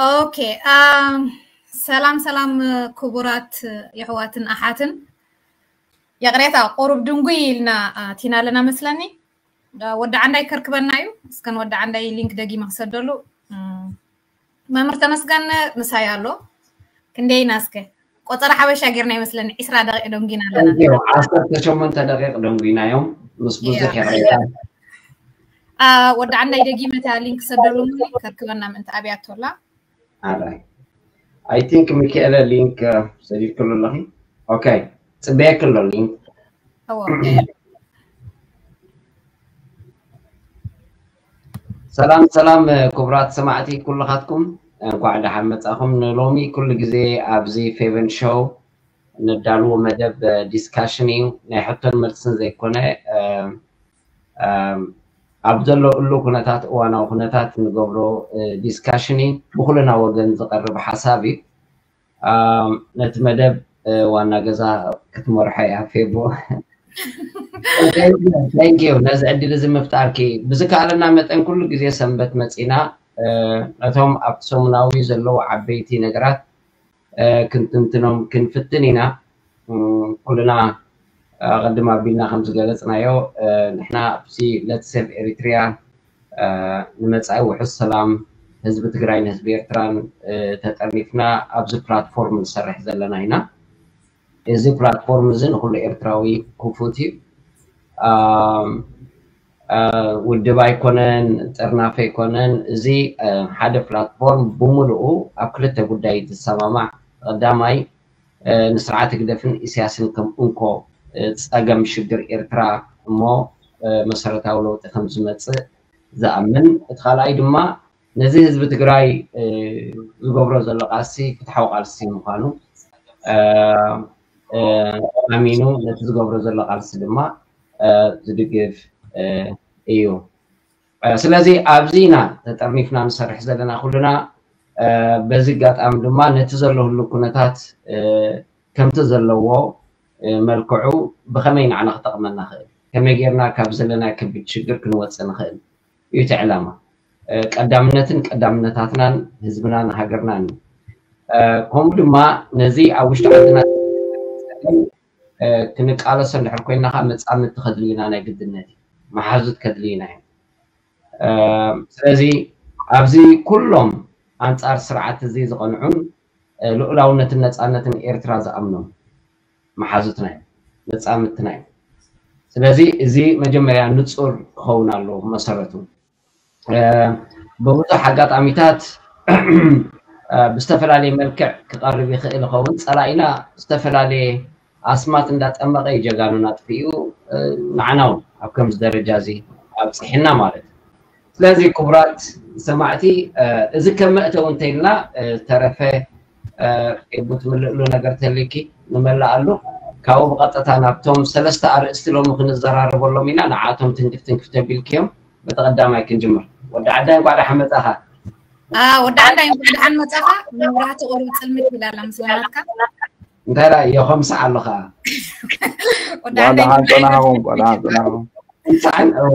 ኦኬ። ኣም፣ ሰላም ሰላም፣ ክቡራት የሕዋትን ኣሓትን፣ ይቕሬታ፣ ቁሩብ ድንጉይ ኢልና ኣቲና ኣለና መስለኒ። ወዲ ዓንዳይ ከርክበና እዩ። እስከን ወዲ ዓንዳይ ሊንክ ደጊመ ክሰደሉ። እም፣ መምህር ተመስገን ምሳይ ኣሎ። ክንደይ ኢና እስከ? ቆጸራ ሓበሻ ጌርና ይመስለኒ፣ ዒስራ ደቂቕ ደንጉይና ኣለና። ዓሰርተ ሸሞንተ ደቂቕ ደንጉይናዮም፣ ምስ ብዙሕ ይቕሬታ። ወዲ ዓንዳይ ደጊመ እታ ሊንክ ሰደሉ፣ ከርክበና ምእንቲ ኣብያቶላ። ኣራይ፣ I think ሚካኤለ ሊንክ ሰዲድክሉ ኣለኺ። ኦኬ፣ ጽበየክ ኣሎ ሊንክ። ሰላም ሰላም፣ ክቡራት ሰማዕቲ ኩልኻትኩም፣ እንኳዕ ደሓን መጻኹም። ንሎሚ ኩሉ ግዜ ኣብዚ ፌቨን ሾው ነዳልዎ መደብ ዲስካሽን እዩ። ናይ ሕቶን መልስን ዘይኮነ፣ ኣብ ዘሎ እሉ ኩነታት፣ እዋናዊ ኩነታት ንገብሮ ዲስካሽን እዩ። ብኩልና ወገን ዝቐርብ ሓሳብ እዩ። ነቲ መደብ ዋና ገዛ ክትመርሖ እያ ፌቦ። Thank you ነዚ ዕድል እዚ ምፍጣርኪ። ብዝከኣለና መጠን ኩሉ ግዜ ሰንበት መፂና ነቶም ኣብቲ ሰሙናዊ ዘለዉ ዓበይቲ ነገራት ክንትንትኖም ክንፍትን ኢና። ኩልና ቅድም ኣቢልና ከም ዝገለፅናዮ፣ ንሕና ኣብዚ Let's Save Eritrea ንመፃኢ ውሑስ ሰላም ህዝቢ ትግራይን ህዝቢ ኤርትራን ተጠርኒፍና ኣብዚ ፕላትፎርም ንሰርሕ ዘለና ኢና። እዚ ፕላትፎርም እዚ ንኩሉ ኤርትራዊ ክፉት እዩ። ውድብ ኣይኮነን፣ ጥርናፈ ኣይኮነን። እዚ ሓደ ፕላትፎርም ብምሉኡ ኣብ ክልተ ጉዳይ ዝሰማማዕ፣ ቀዳማይ ንስርዓት ህግደፍን ኢሳያስን ከም እንኮ ፀገም ሽግር ኤርትራ እሞ መሰረታዊ ለውጢ ከም ዝመፅእ ዝኣምን፣ እቲ ካልኣይ ድማ ነዚ ህዝቢ ትግራይ ዝገብሮ ዘሎ ቃልሲ ፍትሓዊ ቃልሲ ምዃኑ ኣሚኑ ነቲ ዝገብሮ ዘሎ ቃልሲ ድማ ዝድግፍ እዩ። ስለዚ ኣብዚ ኢና ተጠርኒፍና ንሰርሕ ዘለና ኩልና። በዚ ኣጋጣሚ ድማ ነቲ ዘሎ ህሉ ኩነታት ከምቲ ዘለዎ መልክዑ ብኸመይ ንዓና ክጠቕመና ክእል፣ ከመይ ጌርና ካብ ዘለና ከቢድ ሽግር ክንወፅእ ንኽእል እዩ እቲ ዕላማ። ቀዳምነትን ቀዳምነታትናን ህዝብናን ሃገርናን እዩ። ከምኡ ድማ ነዚ ኣብ ውሽጢ ዓድና ክንቃለሶ እንድሕር ኮይና ከዓ መፃምድቲ ከድልዩና ናይ ግድነት እዩ፣ መሓዙት ከድልዩና እዮም። ስለዚ ኣብዚ ኩሎም ኣንፃር ስርዓት እዚ ዝቐንዑን ልኡላውነትን ነፃነትን ኤርትራ ዝኣምኖም መሓዙትና እዮም፣ መፃምድትና እዮም። ስለዚ እዚ መጀመርያ ንፁር ክኸውን ኣለዎ መሰረቱ። ብብዙሕ ኣጋጣሚታት ብዝተፈላለየ መልክዕ ክቐርብ ይኽእል ይኸውን። ፀላኢና ዝተፈላለየ ኣስማት እንዳጠመቐ እዩ ጀጋኑና ኣጥፊኡ፣ ንዓና እውን ኣብ ከምዚ ደረጃ እዚ ኣብፅሕና ማለት እዩ። ስለዚ ክቡራት ሰማዕቲ፣ እዚ ከም መእተዊ እንተኢልና፣ ዝተረፈ ፌቡ ትምልእሉ ነገር ተልኪ ንመላኣሉ። ካብኡ ብቐጥታ ናብቶም ሰለስተ ኣርእስቲ ሎሚ ክንዘራረበሎም ኢና። ንዓቶም ትንክፍ ትንክፍ ተቢልክዮም፣ በቲ ቀዳማይ ክንጅምር። ወዲ ዓዳይ እንኳዕ ደሓን መጻኻ። ወዲ ዓዳይ እንኳዕ ደሓን መጻኻ። መብራህቲ ቁሩብ ጽልምት ይላላ ምስ በላትካ። እንታይ ደኣ የኸምስዕ ኣለኻ? ወዲ ዓዳይ ደሓን ጸናሕኩም፣ ደሓን ጸናሕኩም። እንሳዕን እወ።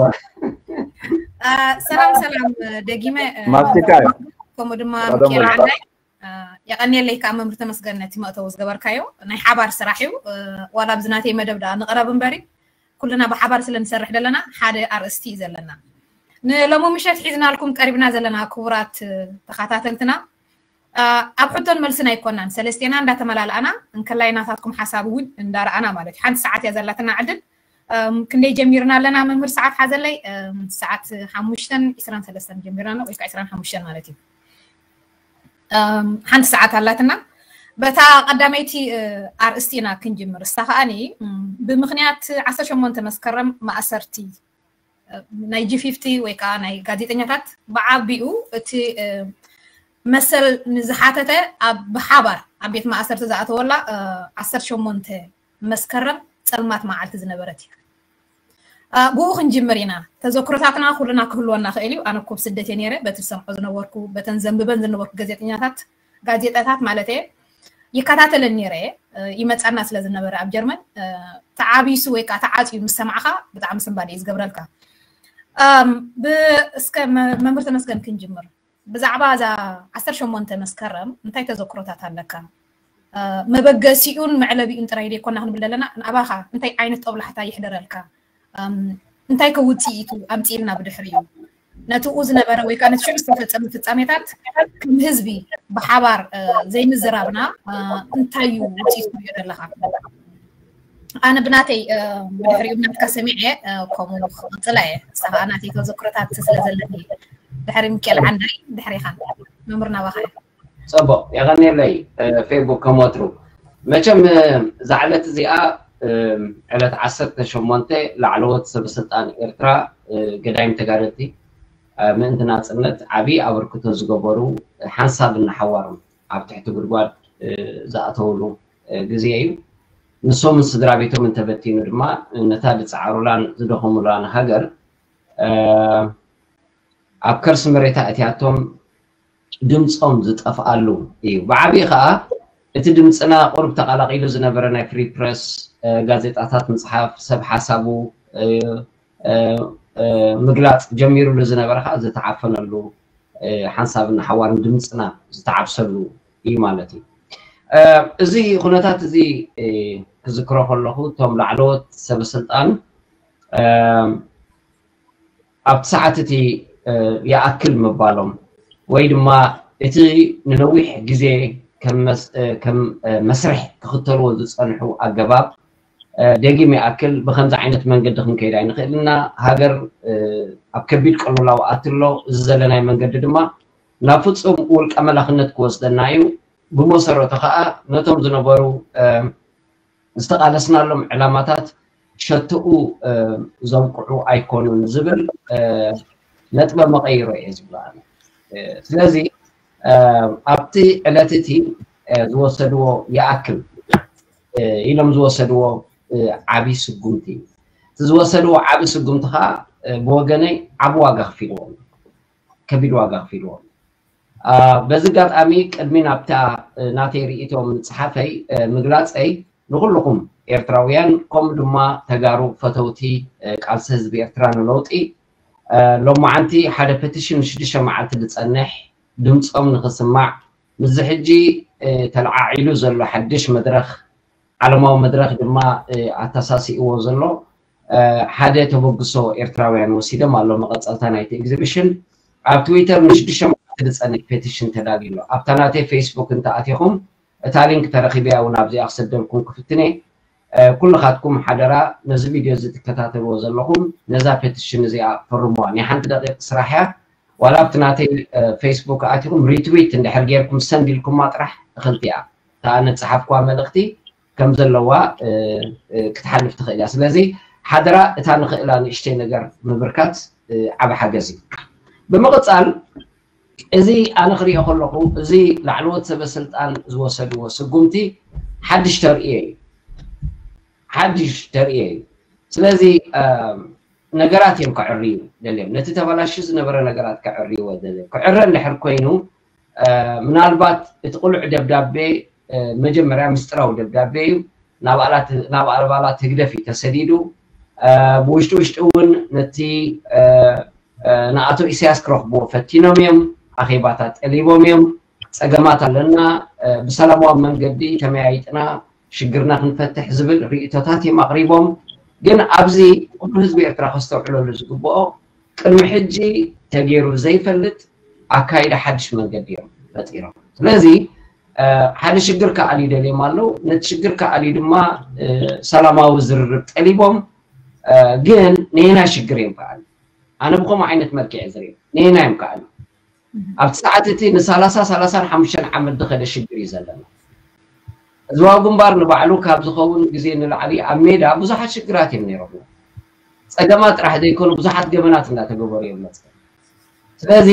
ሰላም ሰላም፣ ደጊመ ማስቲካ እዩ። ከምኡ ድማ ቀደም ሚካኤል ወልዳ። ዓዳይ። የቐንየለይ ከዓ መምህር ተመስገን ነቲ መእተዊ ዝገበርካዮ። ናይ ሓባር ስራሕ እዩ። ዋላ ኣብዚ ናተይ መደብ ደኣ ንቕረብ እምበሪ፣ ኩልና ብሓባር ስለ ንሰርሕ ዘለና ሓደ ኣርእስቲ እዩ ዘለና። ንሎሚ ምሸት ሒዝናልኩም ቀሪብና ዘለና ክቡራት ተኸታተልትና፣ ኣብ ሕቶን መልስን ኣይኮናን፣ ሰለስቴና እንዳተመላልኣና እንከላይ ናታትኩም ሓሳብ እውን እንዳረኣና ማለት እዩ። ሓንቲ ሰዓት እያ ዘላትና ዕድል። ክንደይ ጀሚርና ኣለና መምህር? ሰዓት ሓዘለይ። ሰዓት ሓሙሽተን ዒስራን ሰለስተን ጀሚርና ኣለና፣ ወይ ከዓ ዒስራን ሓሙሽተን ማለት እዩ። ሓንቲ ሰዓት ኣላትና። በታ ቀዳመይቲ ኣርእስቲ ኢና ክንጅምር። እሳ ከዓኒ ብምኽንያት ዓሰርተ ሸሞንተ መስከረም ማእሰርቲ ናይ ጂ ፊፍቲ ወይ ከዓ ናይ ጋዜጠኛታት ብዓቢኡ እቲ መሰል ንዝሓተተ ኣብ ብሓባር ኣብ ቤት ማእሰርቲ ዝኣተወላ ዓሰርተ ሸሞንተ መስከረም ጸልማት መዓልቲ ዝነበረት እያ። ብኡ ክንጅምር ኢና። ተዘክሮታትና ኩልና ክህልወና ክእል እዩ። ኣነ እኮ ኣብ ስደት እየ ነይረ። በቲ ዝሰምዖ ዝነበርኩ፣ በተን ዘንብበን ዝነበርኩ ጋዜጠኛታት፣ ጋዜጣታት ማለት እየ፣ ይከታተለን ነይረ እየ። ይመጻና ስለ ዝነበረ ኣብ ጀርመን፣ ተዓቢሱ ወይ ከዓ ተዓጽዩ ምስ ሰማዕኻ ብጣዕሚ ስንባደ እዩ ዝገብረልካ። እስከ መምህር ተመስገን ክንጅምር። ብዛዕባ እዛ ዓሰርተ ሸሞንተ መስከረም እንታይ ተዘክሮታት ኣለካ? መበገሲኡን መዕለቢኡን ጥራይ ደይኮና ክንብል ዘለና፣ ንኣባኻ እንታይ ዓይነት ጦብላሕታ ይሕደረልካ? እንታይ ከ ውፅኢቱ ኣምፂእልና ብድሕሪኡ? ነቲኡ ዝነበረ ወይ ከዓ ነቲ ሽዑ ዝተፈፀመ ፍፃሜታት ከም ህዝቢ ብሓባር ዘይምዝራብና እንታይ እዩ ውፅኢቱ ትሪኦ ዘለካ? ኣነ ብናተይ ብድሕሪኡ ናትካ ሰሚዐ ከምኡ ክቕፅላ እየ። ንሳ ከዓ ናተይ ተዘክሮታት ስለ ዘለኒ ድሕሪ ሚካኤል ዓንዳይ ድሕሪኻን መምህር ናባኻ እየ። ፅቡቕ የቐንየለይ። ፌቡክ ከም ወትሩ መቸም እዛ ዕለት እዚኣ ዕለት ዓሰርተ ሸሞንተ ላዕለዎት ሰበስልጣን ኤርትራ ገዳይም ተጋደልቲ ምእንቲ ናፅነት ዓብዪ ኣበርክቶ ዝገበሩ ሓንሳብ እናሓዋሮም ኣብ ትሕቲ ጉድጓድ ዝኣተውሉ ግዜ እዩ። ንሶምን ስድራ ቤቶም እንተበቲኑ ድማ ነታ ዝፀዓሩላን ዝደኸሙላን ሃገር ኣብ ከርሲ መሬታ እቲኣቶም ድምፆም ዝጠፍኣሉ እዩ። ብዓብዪ ከዓ እቲ ድምፅና ቁሩብ ተቐላቒሉ ዝነበረ ናይ ፍሪ ፕረስ፣ ጋዜጣታት ምፅሓፍ፣ ሰብ ሓሳቡ ምግላፅ ጀሚሩሉ ዝነበረ ከዓ ዝተዓፈነሉ ሓንሳብን ሓዋርን ድምፅና ዝተዓብሰሉ እዩ ማለት እዩ። እዚ ኩነታት እዚ ክዝክሮ ከለኹ እቶም ላዕለዎት ሰበስልጣን ኣብቲ ሰዓት እቲ ይኣክል ምባሎም ወይ ድማ እቲ ንነዊሕ ግዜ ከም መስርሕ ክኽተልዎ ዝፀንሑ ኣገባብ ደጊም ይኣክል ብከምዚ ዓይነት መንገዲ ክንከይድ ኣይንኽእልና። ሃገር ኣብ ከቢድ ቅልውላው ኣትሎ። እዚ ዘለናይ መንገዲ ድማ ናብ ፍፁም ውልቀ መላኽነት ክወስደና እዩ። ብመሰረቱ ከዓ ነቶም ዝነበሩ ዝተቓለስናሎም ዕላማታት ሸትኡ ዘብቅዑ ኣይኮኑን ዝብል ነጥበ መቐይሮ እየ ዝብሎ ኣነ። ስለዚ ኣብቲ ዕለት እቲ ዝወሰድዎ ይኣክል ኢሎም ዝወሰድዎ ዓብዪ ስጉምቲ እዩ። እቲ ዝወሰድዎ ዓብዪ ስጉምቲ ከዓ ብወገነይ ዓቢ ዋጋ ከፊልዎም፣ ከቢድ ዋጋ ከፊልዎም። በዚ ኣጋጣሚ ቅድሚ ናብታ ናተይ ርእይቶ ምፅሓፈይ ምግላፀይ ንኩልኹም ኤርትራውያን ከምኡ ድማ ተጋሩ ፈተውቲ ቃልሲ ህዝቢ ኤርትራ ንለውጢ ሎማዓንቲ ሓደ ፔቲሽን ንሽዱሽተ መዓልቲ ዝፀንሕ ድምፆም ንክስማዕ ምስዚ ሕጂ ተለዓዒሉ ዘሎ ሓድሽ መድረኽ ዓለማዊ መድረኽ ድማ ኣተሳሲእዎ ዘሎ ሓደ ተበግሶ ኤርትራውያን ወሲዶም ኣሎ። መቐፀልታ ናይቲ ኤግዚቢሽን ኣብ ትዊተር ንሽዱሽተ መዓልቲ ዝፀንሕ ፔቲሽን ተዳልዩ ኣሎ። ኣብታ ናተይ ፌስቡክ እንተኣቲኹም እታ ሊንክ ተረኺበያ እውን ኣብዚኣ ክሰደልኩም ክፍትነ። ኩልኻትኩም ሓደራ ነዚ ቪድዮ እዚ ትከታተልዎ ዘለኹም ነዛ ፔቲሽን እዚኣ ፈርምዋ። ናይ ሓንቲ ደቂቕ ስራሕ እያ። ዋላ ኣብቲ ናተይ ፌስቡክ ኣቲኹም ሪትዊት እንድሕር ጌርኩም ሰንድ ኢልኩማ ጥራሕ እኽልቲ እያ። እታ ነፀሓፍኩዋ መልእኽቲ ከም ዘለዋ ክትሓልፍ ትኽእል እያ። ስለዚ ሓደራ እታ ንኽእላ ንእሽተይ ነገር ምብርካት ዓብ ሓገዝ እዩ። ብምቕፃል እዚ ኣነ ክሪኦ ከለኹ እዚ ላዕለዎት ሰበ ስልጣን ዝወሰድዎ ስጉምቲ ሓድሽ ተርእዮ እዩ። ሓድሽ ተርእዮ እዩ። ስለዚ ነገራት እዮም ከዕርዩ ደልዮም። ነቲ ተበላሹ ዝነበረ ነገራት ከዕርይዎ ደልዮም። ክዕረ እንድሕር ኮይኑ ምናልባት እቲ ቅሉዕ ደብዳቤ መጀመርያ ምስጢራዊ ደብዳቤ እዩ። ናብ ኣባላት ህግደፍ እዩ ተሰዲዱ። ብውሽጢ ውሽጢ እውን ነቲ ንኣቶ ኢሳያስ ክረኽብዎ ፈቲኖም እዮም። ኣኼባታት ጠሊቦም እዮም። ፀገማት ኣለና፣ ብሰላማዊ መንገዲ ተመያይጥና ሽግርና ክንፈትሕ ዝብል ርእይቶታት እዮም ኣቕሪቦም። ግን ኣብዚ ኩሉ ህዝቢ ኤርትራ ከስተውዕለሉ ዝግብኦ ቅድሚ ሕጂ ተገይሩ ዘይፈልጥ ኣካይዳ ሓድሽ መንገዲ እዮም ፈጢሮም። ስለዚ ሓደ ሽግር ክኣልዩ ደልዮም ኣለዉ። ነቲ ሽግር ክኣልዩ ድማ ሰላማዊ ዝርርብ ጠሊቦም። ግን ነየናይ ሽግር እዮም ክኣልዩ? ኣነ ብኸምኡ ዓይነት መልክዕ ዝርኢ ነየናይ እዮም ክኣልዩ? ኣብቲ ሰዓት እቲ ንሳላሳ ሳላሳን ሓሙሽተን ዓመት ዝኸደ ሽግር እዩ ዘለና። ህዝባዊ ግንባር ንባዕሉ ካብ ዝኸውን ግዜ ንላዕሊ ኣብ ሜዳ ብዙሓት ሽግራት እዮም ነይሮምና። ፀገማት ጥራሕ ዘይኮኑ ብዙሓት ገበናት እናተገበሩ እዮም መፅኦም። ስለዚ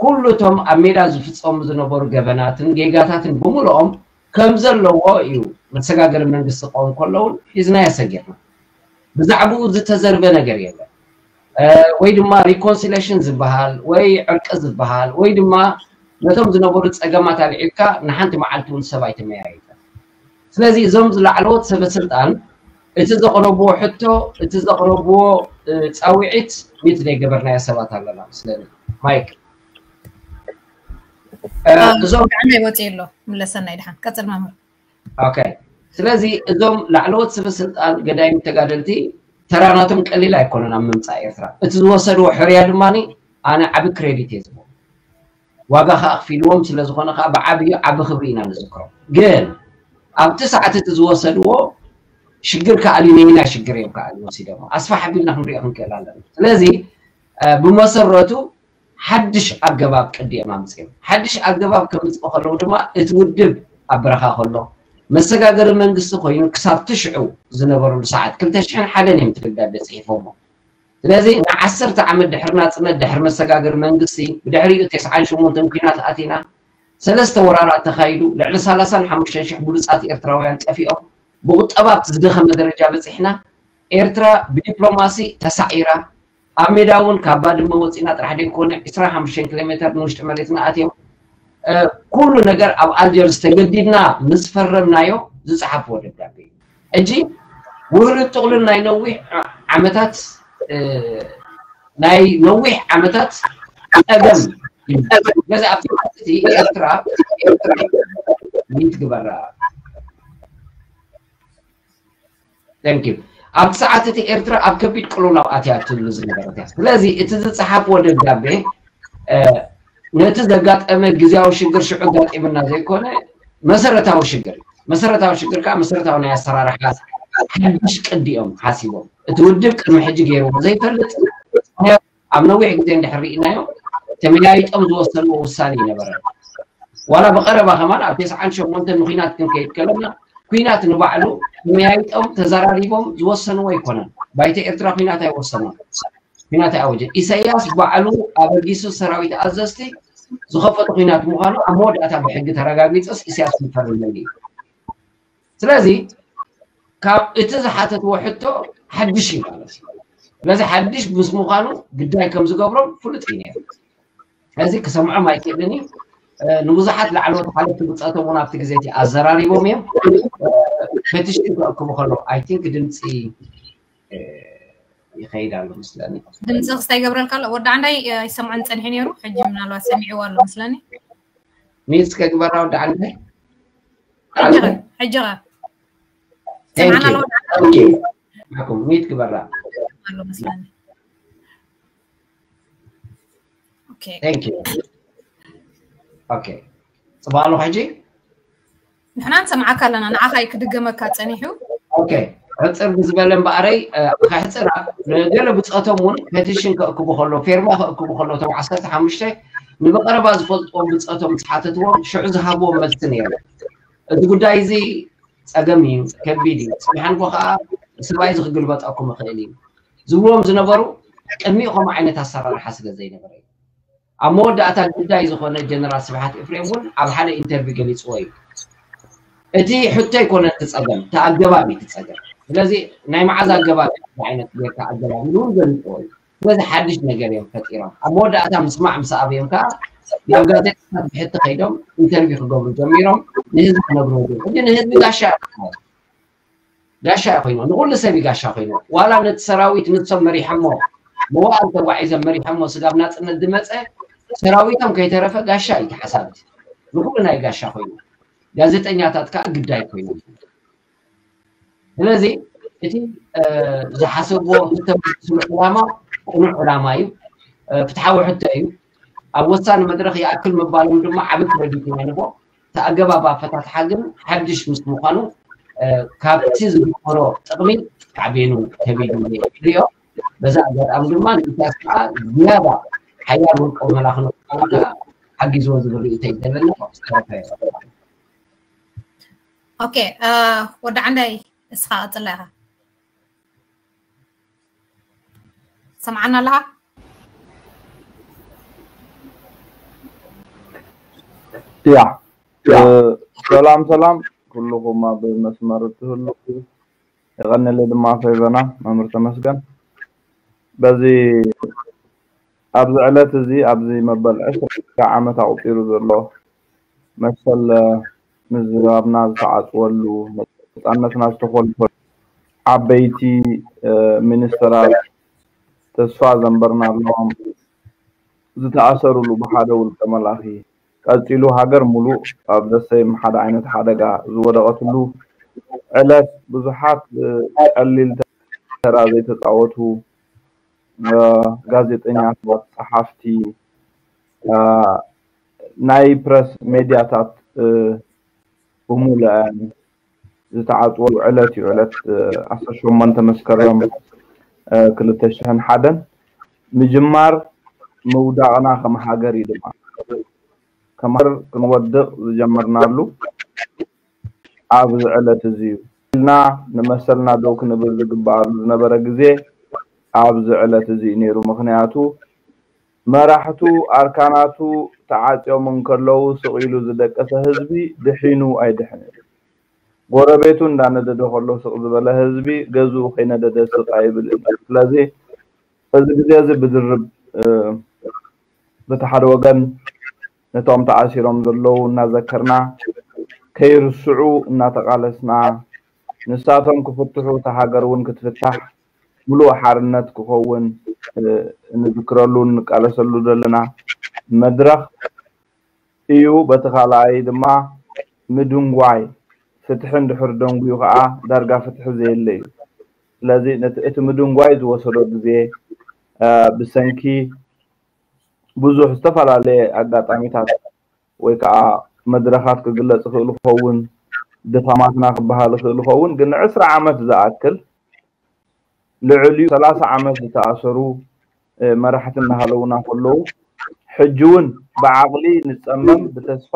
ኩሉ እቶም ኣብ ሜዳ ዝፍፀሙ ዝነበሩ ገበናትን ጌጋታትን ብምልኦም ከም ዘለዎ እዩ። መሰጋገሪ መንግስቲ ክኸውን ከለውን ሒዝናዮ ሰጊርና። ብዛዕባኡ ዝተዘርበ ነገር የለን። ወይ ድማ ሪኮንሲሌሽን ዝበሃል ወይ ዕርቂ ዝበሃል ወይ ድማ ነቶም ዝነበሩ ፀገማት ኣልዒልካ ንሓንቲ መዓልቲ እውን ሰብ ኣይተመያየጠን። ስለዚ እዞም ዝላዕለዎት ሰበ ስልጣን እቲ ዘቕረብዎ ሕቶ እቲ ዘቕረብዎ ፃውዒት ሚት ዘይገበርናዮ ሰባት ኣለና። ስለዚ ማይክ እዞም ብዓንዳይ ወፂኡ ኣሎ። ምለሰና ይድሓን ቀፅል መምህር። ኦኬ። ስለዚ እዞም ላዕለዎት ስበ ስልጣን ገዳይም ተጋደልቲ ተራናቶም ቀሊል ኣይኮነን ኣብ ምምፃእ ኤርትራ። እቲ ዝወሰድዎ ሕርያ ድማ ኣነ ዓቢ ክሬዲት እየ ዝቦ። ዋጋ ከዓ ክፊልዎም ስለ ዝኾነ ከዓ ብዓብዩ ዓቢ ክብሪ ኢና ንዝክሮም። ግን ኣብቲ ሰዓት እቲ ዝወሰድዎ ሽግር ከዓ ነየናይ ሽግር እዮም ከዓ ወሲዶም ኣስፋሕ ኣቢልና ክንሪኦ ክንክእል ኣለና። ስለዚ ብመሰረቱ ሓድሽ ኣገባብ ቅዲ እዮም ኣምፅኦም። ሓድሽ ኣገባብ ከምፅኡ ከለዉ ድማ እቲ ውድብ ኣብ በረኻ ከሎ መሰጋገሪ መንግስቲ ኮይኑ ክሳብ ትሽዑ ዝነበረሉ ሰዓት ክልተ ሽሕን ሓደን እዮም እቲ ደብዳቤ ፅሒፎሞ። ስለዚ ንዓሰርተ ዓመት ድሕሪ ናፅነት ድሕሪ መሰጋገሪ መንግስቲ ብድሕሪኡ ተስዓን ሸሞንተን ኲናት ኣቲና ሰለስተ ወራራት ተኻይዱ ልዕሊ ሰላሳን ሓሙሽተን ሽሕ ብሉፃት ኤርትራውያን ጠፊኦም ብቁጠባ ኣብቲ ዝደኸመ ደረጃ በፂሕና ኤርትራ ብዲፕሎማሲ ተሳዒራ ኣብ ሜዳ እውን ካብ ባድመ ወፂና ጥራሕ ደይኮነ ዕስራን ሓሙሽተን ኪሎ ሜተር ንውሽጢ መሬትና ኣትዮም ኩሉ ነገር ኣብ ኣልጀርስ ተገዲድና ምስ ፈረምናዮ ዝፀሓፍዎ ደብዳቤ እዩ። ሕጂ ውህሉል ጥቕሉል ናይ ነዊሕ ዓመታት ናይ ነዊሕ ዓመታት ፀገም ገዛ ኣብቲ ኤርትራ ኤርትራ ሚት ግበራ Thank you ኣብቲ ሰዓት እቲ ኤርትራ ኣብ ከቢድ ቅልውላው ኣትያ ትብሉ ዝነበረት እያ። ስለዚ እቲ ዝፀሓፍዎ ደብዳቤ ነቲ ዘጋጠመ ግዜያዊ ሽግር ሽዑ ኣጋጢምና ዘይኮነ መሰረታዊ ሽግር መሰረታዊ ሽግር ከዓ መሰረታዊ ናይ ኣሰራርሓ ሓድሽ ቅዲ እዮም ሓሲቦም። እቲ ውድብ ቅድሚ ሕጂ ገይርዎ ዘይፈልጥ ኣብ ነዊሕ ግዜ እንድሕር ርኢናዮ ተመያይጦም ዝወሰንዎ ውሳኔ ይነበረ። ዋላ ብቐረባ ከማን ኣብ ተስዓን ሸሞንተን ንኩናት ክንከይድ ከለና ኩናት ንባዕሉ ተመያይጦም ተዘራሪቦም ዝወሰንዎ ኣይኮነን። ባይቶ ኤርትራ ኩናት ኣይወሰኖም። ኩናት ኣይኣወጀን። ኢሳያስ ባዕሉ ኣበጊሱ ሰራዊት ኣዘዝቲ ዝኸፈቶ ኩናት ምዃኑ ኣብ መወዳእታ ብሕጊ ተረጋጊፁስ ኢሳያስ ይፈርመሉ እዩ። ስለዚ ካብ እቲ ዝሓተትዎ ሕቶ ሓድሽ እዩ ማለት እዩ። ስለዚ ሓድሽ ምስ ምዃኑ ግዳይ ከም ዝገብሮም ፍሉጥ እዩ ነይሩ። ስለዚ ክሰምዖም ኣይክእልን እዩ። ንብዙሓት ላዕለዎት ሓለፍቲ ብፀቶም እውን ኣብቲ ግዜ እቲ ኣዘራሪቦም እዮም። ፔቲሽን ክእክቡ ከለዉ ኣይ ቲንክ ድምፂ ይኸይድ ኣሎ መስለኒ። ድምፂ ክስታይ ይገብረልካ ኣሎ። ወዲ ዓንዳይ ኣይሰምዖን ፀኒሑ ነይሩ። ሕጂ ምናልባት ሰሚዕዎ ኣሎ መስለኒ። ሚስ ከግበራ ወዲ ዓንዳይ ሕጂ ኸ? ሕጂ ኸ? ሰምዓና ኣሎ ወዲ ዓንዳይ? ኦኬ። ማኩም ሚት ግበራ። ኣሎ መስለኒ። ኦኬ። Thank you። ኦኬ። ጽባሎ ሕጂ ንሕና ንሰምዓካ ኣለና። ንዓኻ እዩ ክድገመካ ጸኒሑ። ኦኬ። ሕጽር ብዝበለ እምበኣረይ ከሕጽራ ንገለ ብጸቶም እውን ፔቲሽን ከእክቡ ከሎ ፌርማ ከእክቡ ከሎ እቶም ዓሰርተ ሓሙሽተ ንብቐረባ ዝፈልጥዎም ብጸቶም ዝሓተትዎም ሽዑ ዝሃብዎም መልሲ ነይሩ። እዚ ጉዳይ እዚ ጸገም እዩ፣ ከቢድ እዩ፣ ጽባሕ ንግሆ ከኣ ሰብኣይ እዚ ክግልበጠኩም ይኽእል እዩ ዝብልዎም ዝነበሩ ቅድሚኡ ከምኡ ዓይነት ኣሰራርሓ ስለ ዘይነበረ እዩ። ኣብ መወዳእታ ግዳይ ዝኾነ ጀነራል ስብሓት ኤፍሬም እውን ኣብ ሓደ ኢንተርቪው ገሊፅዎ እዩ። እቲ ሕቶ ኣይኮነ እቲ ፀገም፣ እቲ ኣገባብ እዩ እቲ ፀገም። ስለዚ ናይ መዓዝ ኣገባብ ዓይነት ጌርካ ኣገባብ ኢሉ እውን ገሊፅዎ እዩ። ስለዚ ሓድሽ ነገር እዮም ፈጢሮም። ኣብ መወዳእታ ምስማዕ ምስ ኣበዮም ከዓ ናብ ጋዜጣታት ብሕቲ ከይዶም ኢንተርቪው ክገብሩ ጀሚሮም። ንህዝቢ ክነግርዎ ጀሚሮም። ሕጂ ንህዝቢ ጋሻ እዮም ኮይኖም። ጋሻ እዩ ኮይኖም። ንኩሉ ሰብ እዩ ጋሻ ኮይኖም። ዋላ ነቲ ሰራዊት ንሶም መሪሖሞ መዋእል ተጓዒዞም መሪሖሞ ስጋብ ናፅነት ዝመፀ ሰራዊቶም ከይተረፈ ጋሻ እዩ ተሓሳብቲ። ንኩሉ ናይ ጋሻ ኮይኑ ጋዜጠኛታት ከዓ ግዳይ ኮይኖም። ስለዚ እቲ ዝሓሰብዎ ዝተመልስሉ ዕላማ ቅኑዕ ዕላማ እዩ። ፍትሓዊ ሕቶ እዩ። ኣብ ወሳኒ መድረኽ ይኣክል ምባሎም ድማ ዓቢ ክረዲት ኢና ንቦ። እቲ ኣገባብ ኣፈታትሓ ግን ሓድሽ ምስ ምዃኑ ካብቲ ዝግበሮ ጥቕሚ ሳዕቤኑ ከቢድ እዩ ሪኦ። በዛ ኣጋጣሚ ድማ ንኢሳያስ ከዓ ዝያዳ ሓያል ውልቀ መላኽ ንክኸውን ከዓ ሓጊዝዎ ዝብል ርእይቶ እዩ ዘለና። ዝተረፈ ኦኬ ወዲ ዓንዳይ እስኻ ቀፅላ ኢኻ ሰምዓና ኣለኻ ያ ሰላም ሰላም ኩልኹም ኣብ መስመር እትህሉ የቐንለ ድማ ፈይበና መምህር ተመስገን በዚ ኣብዚ ዕለት እዚ ኣብዚ መበል ዕስራ ዓመት ኣቑፂሩ ዘሎ መሰል ምዝራብና ዝተዓፅወሉ ነፃነትና ዝተኾልፈሉ ዓበይቲ ሚኒስተራት ተስፋ ዘንበርናሎም ዝተኣሰርሉ ብሓደ ውልቀ መላኺ ቀጺሉ ሃገር ሙሉእ ኣብ ዘሰይም ሓደ ዓይነት ሓደጋ ዝወደቐትሉ ዕለት ብዙሓት ቀሊል ተራ ዘይተጻወቱ ጋዜጠኛታት፣ ጸሓፍቲ፣ ናይ ፕረስ ሜድያታት ብሙሉአን ዝተዓጽወሉ ዕለት እዩ። ዕለት ዓሰርተ ሸሞንተ መስከረም ክልተ ሽሕን ሓደን ምጅማር ምውዳቕና ከም ሃገር እዩ ድማ። ከም ሃገር ክንወድቕ ዝጀመርናሉ ኣብዚ ዕለት እዚ እዩ ኢልና ንመሰልና ደው ክንብል ዝግበኣሉ ዝነበረ ግዜ ኣብዚ ዕለት እዚ እዩ ነይሩ። ምኽንያቱ መራሕቱ ኣርካናቱ ተዓጽዮም እንከለዉ ስቕ ኢሉ ዝደቀሰ ህዝቢ ድሒኑ ኣይድሕንን። ጎረቤቱ እንዳነደደ ከሎ ስቕ ዝበለ ህዝቢ ገዝኡ ከይነደደ ስቕ ኣይብልን። ስለዚ እዚ ግዜ እዚ ብድርብ በቲ ሓደ ወገን ነቶም ተኣሲሮም ዘለዉ እናዘከርና ከይርስዑ እናተቓለስና ንሳቶም ክፍትሑ እታ ሃገር እውን ክትፍታሕ ሙሉእ ሓርነት ክኸውን እንዝክረሉ እንቃለሰሉ ዘለና መድረኽ እዩ። በቲ ካልኣይ ድማ ምድንጓይ ፍትሒ እንድሕር ደንጉዩ ከዓ ዳርጋ ፍትሒ ዘየለ እዩ። ስለዚ እቲ ምድንጓይ ዝወሰዶ ግዜ ብሰንኪ ብዙሕ ዝተፈላለየ ኣጋጣሚታት ወይ ከዓ መድረኻት ክግለጽ ይኽእል ይኸውን፣ ድኻማትና ክበሃል ይኽእል ይኸውን፣ ግን ንዕስራ ዓመት ዝኣክል ልዕሊኡ ሰላሳ ዓመት ዝተኣሰሩ መራሕቲ እናሃለውና ከለዉ ሕጂ እውን ብዓቕሊ ንጸመም ብተስፋ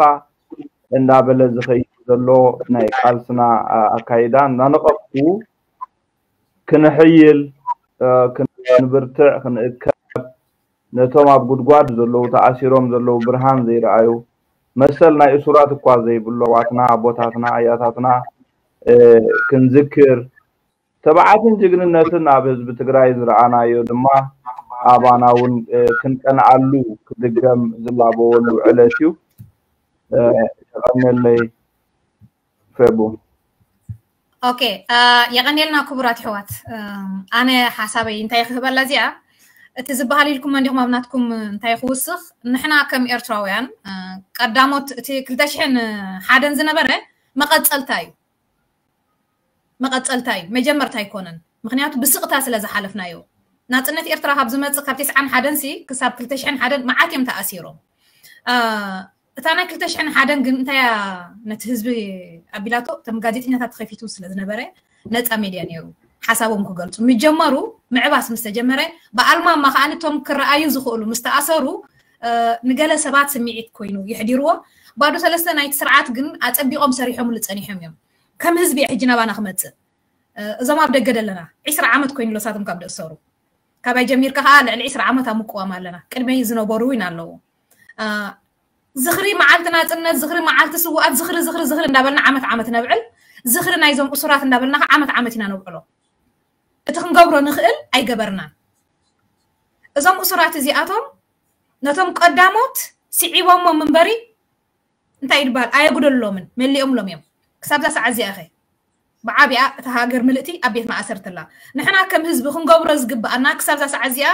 እንዳበለ ዝኸይድ ዘሎ ናይ ቃልስና ኣካይዳ እናነቐፍኩ ክንሕይል ክንብርትዕ ክንእከብ ነቶም ኣብ ጉድጓድ ዘለዉ ተኣሲሮም ዘለዉ ብርሃን ዘይረኣዩ መሰል ናይ እሱራት እኳ ዘይብሉ ኣሕዋትና ኣቦታትና ኣያታትና ክንዝክር ተባዓትን ጅግንነትን ኣብ ህዝቢ ትግራይ ዝረኣናዮ ድማ ኣባና እውን ክንቀንኣሉ ክድገም ዝላበወሉ ዕለት እዩ። የቐንየለይ። ፌቡ። ኦኬ፣ የቐንየልና ክቡራት ኣሕዋት። ኣነ ሓሳበይ እንታይ ክህበላ እዚኣ እቲ ዝበሃል ኢልኩም እንዲኹም ኣብ ናትኩም እንታይ ክውስኽ ንሕና ከም ኤርትራውያን ቀዳሞት እቲ ክልተ ሽሕን ሓደን ዝነበረ መቐጸልታ እዩ። መቐጸልታ እዩ፣ መጀመርታ ኣይኮነን። ምኽንያቱ ብስቕታ ስለ ዝሓለፍናዮ። ናጽነት ኤርትራ ካብ ዝመጽእ ካብ ተስዓን ሓደን ሲ ክሳብ ክልተ ሽሕን ሓደን መዓት እዮም ተኣሲሮም። እታ ናይ ክልተ ሽሕን ሓደን ግን እንታይ እያ ነቲ ህዝቢ ኣቢላቶ? እቶም ጋዜጠኛታት ተኸፊቱ ስለ ዝነበረ ነጻ ሜድያ ነይሩ ሓሳቦም ክገልጹ ምጀመሩ። ምዕባስ ምስ ተጀመረ ብኣልማማ ከኣ እቶም ክረኣዩ ዝኽእሉ ምስ ተኣሰሩ ንገለ ሰባት ስምዒት ኮይኑ የሕዲርዎ። ባዶ ሰለስተ ናይቲ ስርዓት ግን ኣጸቢቖም ሰሪሖምሉ ጸኒሖም እዮም። ከም ህዝቢ ሕጂ ናባና ክመጽእ እዞም ኣብ ደገ ደለና ዒስራ ዓመት ኮይኑ ሎሳቶም ካብ ደእሰሩ ካባይ ጀሚርካ ከዓ ልዕሊ ዒስራ ዓመት ኣብ ምቅዋም ኣለና። ቅድመይ ዝነበሩ እውን ኣለዉ። ዝኽሪ መዓልቲ ናፅነት፣ ዝኽሪ መዓልቲ ስውኣት፣ ዝኽሪ ዝኽሪ ዝኽሪ እንዳበልና ዓመት ዓመት ነብዕል። ዝኽሪ ናይዞም እሱራት እንዳበልና ከዓ ዓመት ዓመት ኢና ነብዕሎ። እቲ ክንገብሮ ንኽእል ኣይገበርናን። እዞም እሱራት እዚኣቶም ነቶም ቀዳሞት ስዒቦሞም እምበሪ እንታይ ይድበሃል ኣየጉደልሎምን መሊኦምሎም እዮም። ክሳብዛ ሰዓት እዚኣ ኸ ብዓቢኣ እታ ሃገር ምልእቲ ኣብ ቤት ማእሰርቲ ኣላ። ንሕና ከም ህዝቢ ክንገብሮ ዝግብኣና ክሳብዛ ሰዓት እዚኣ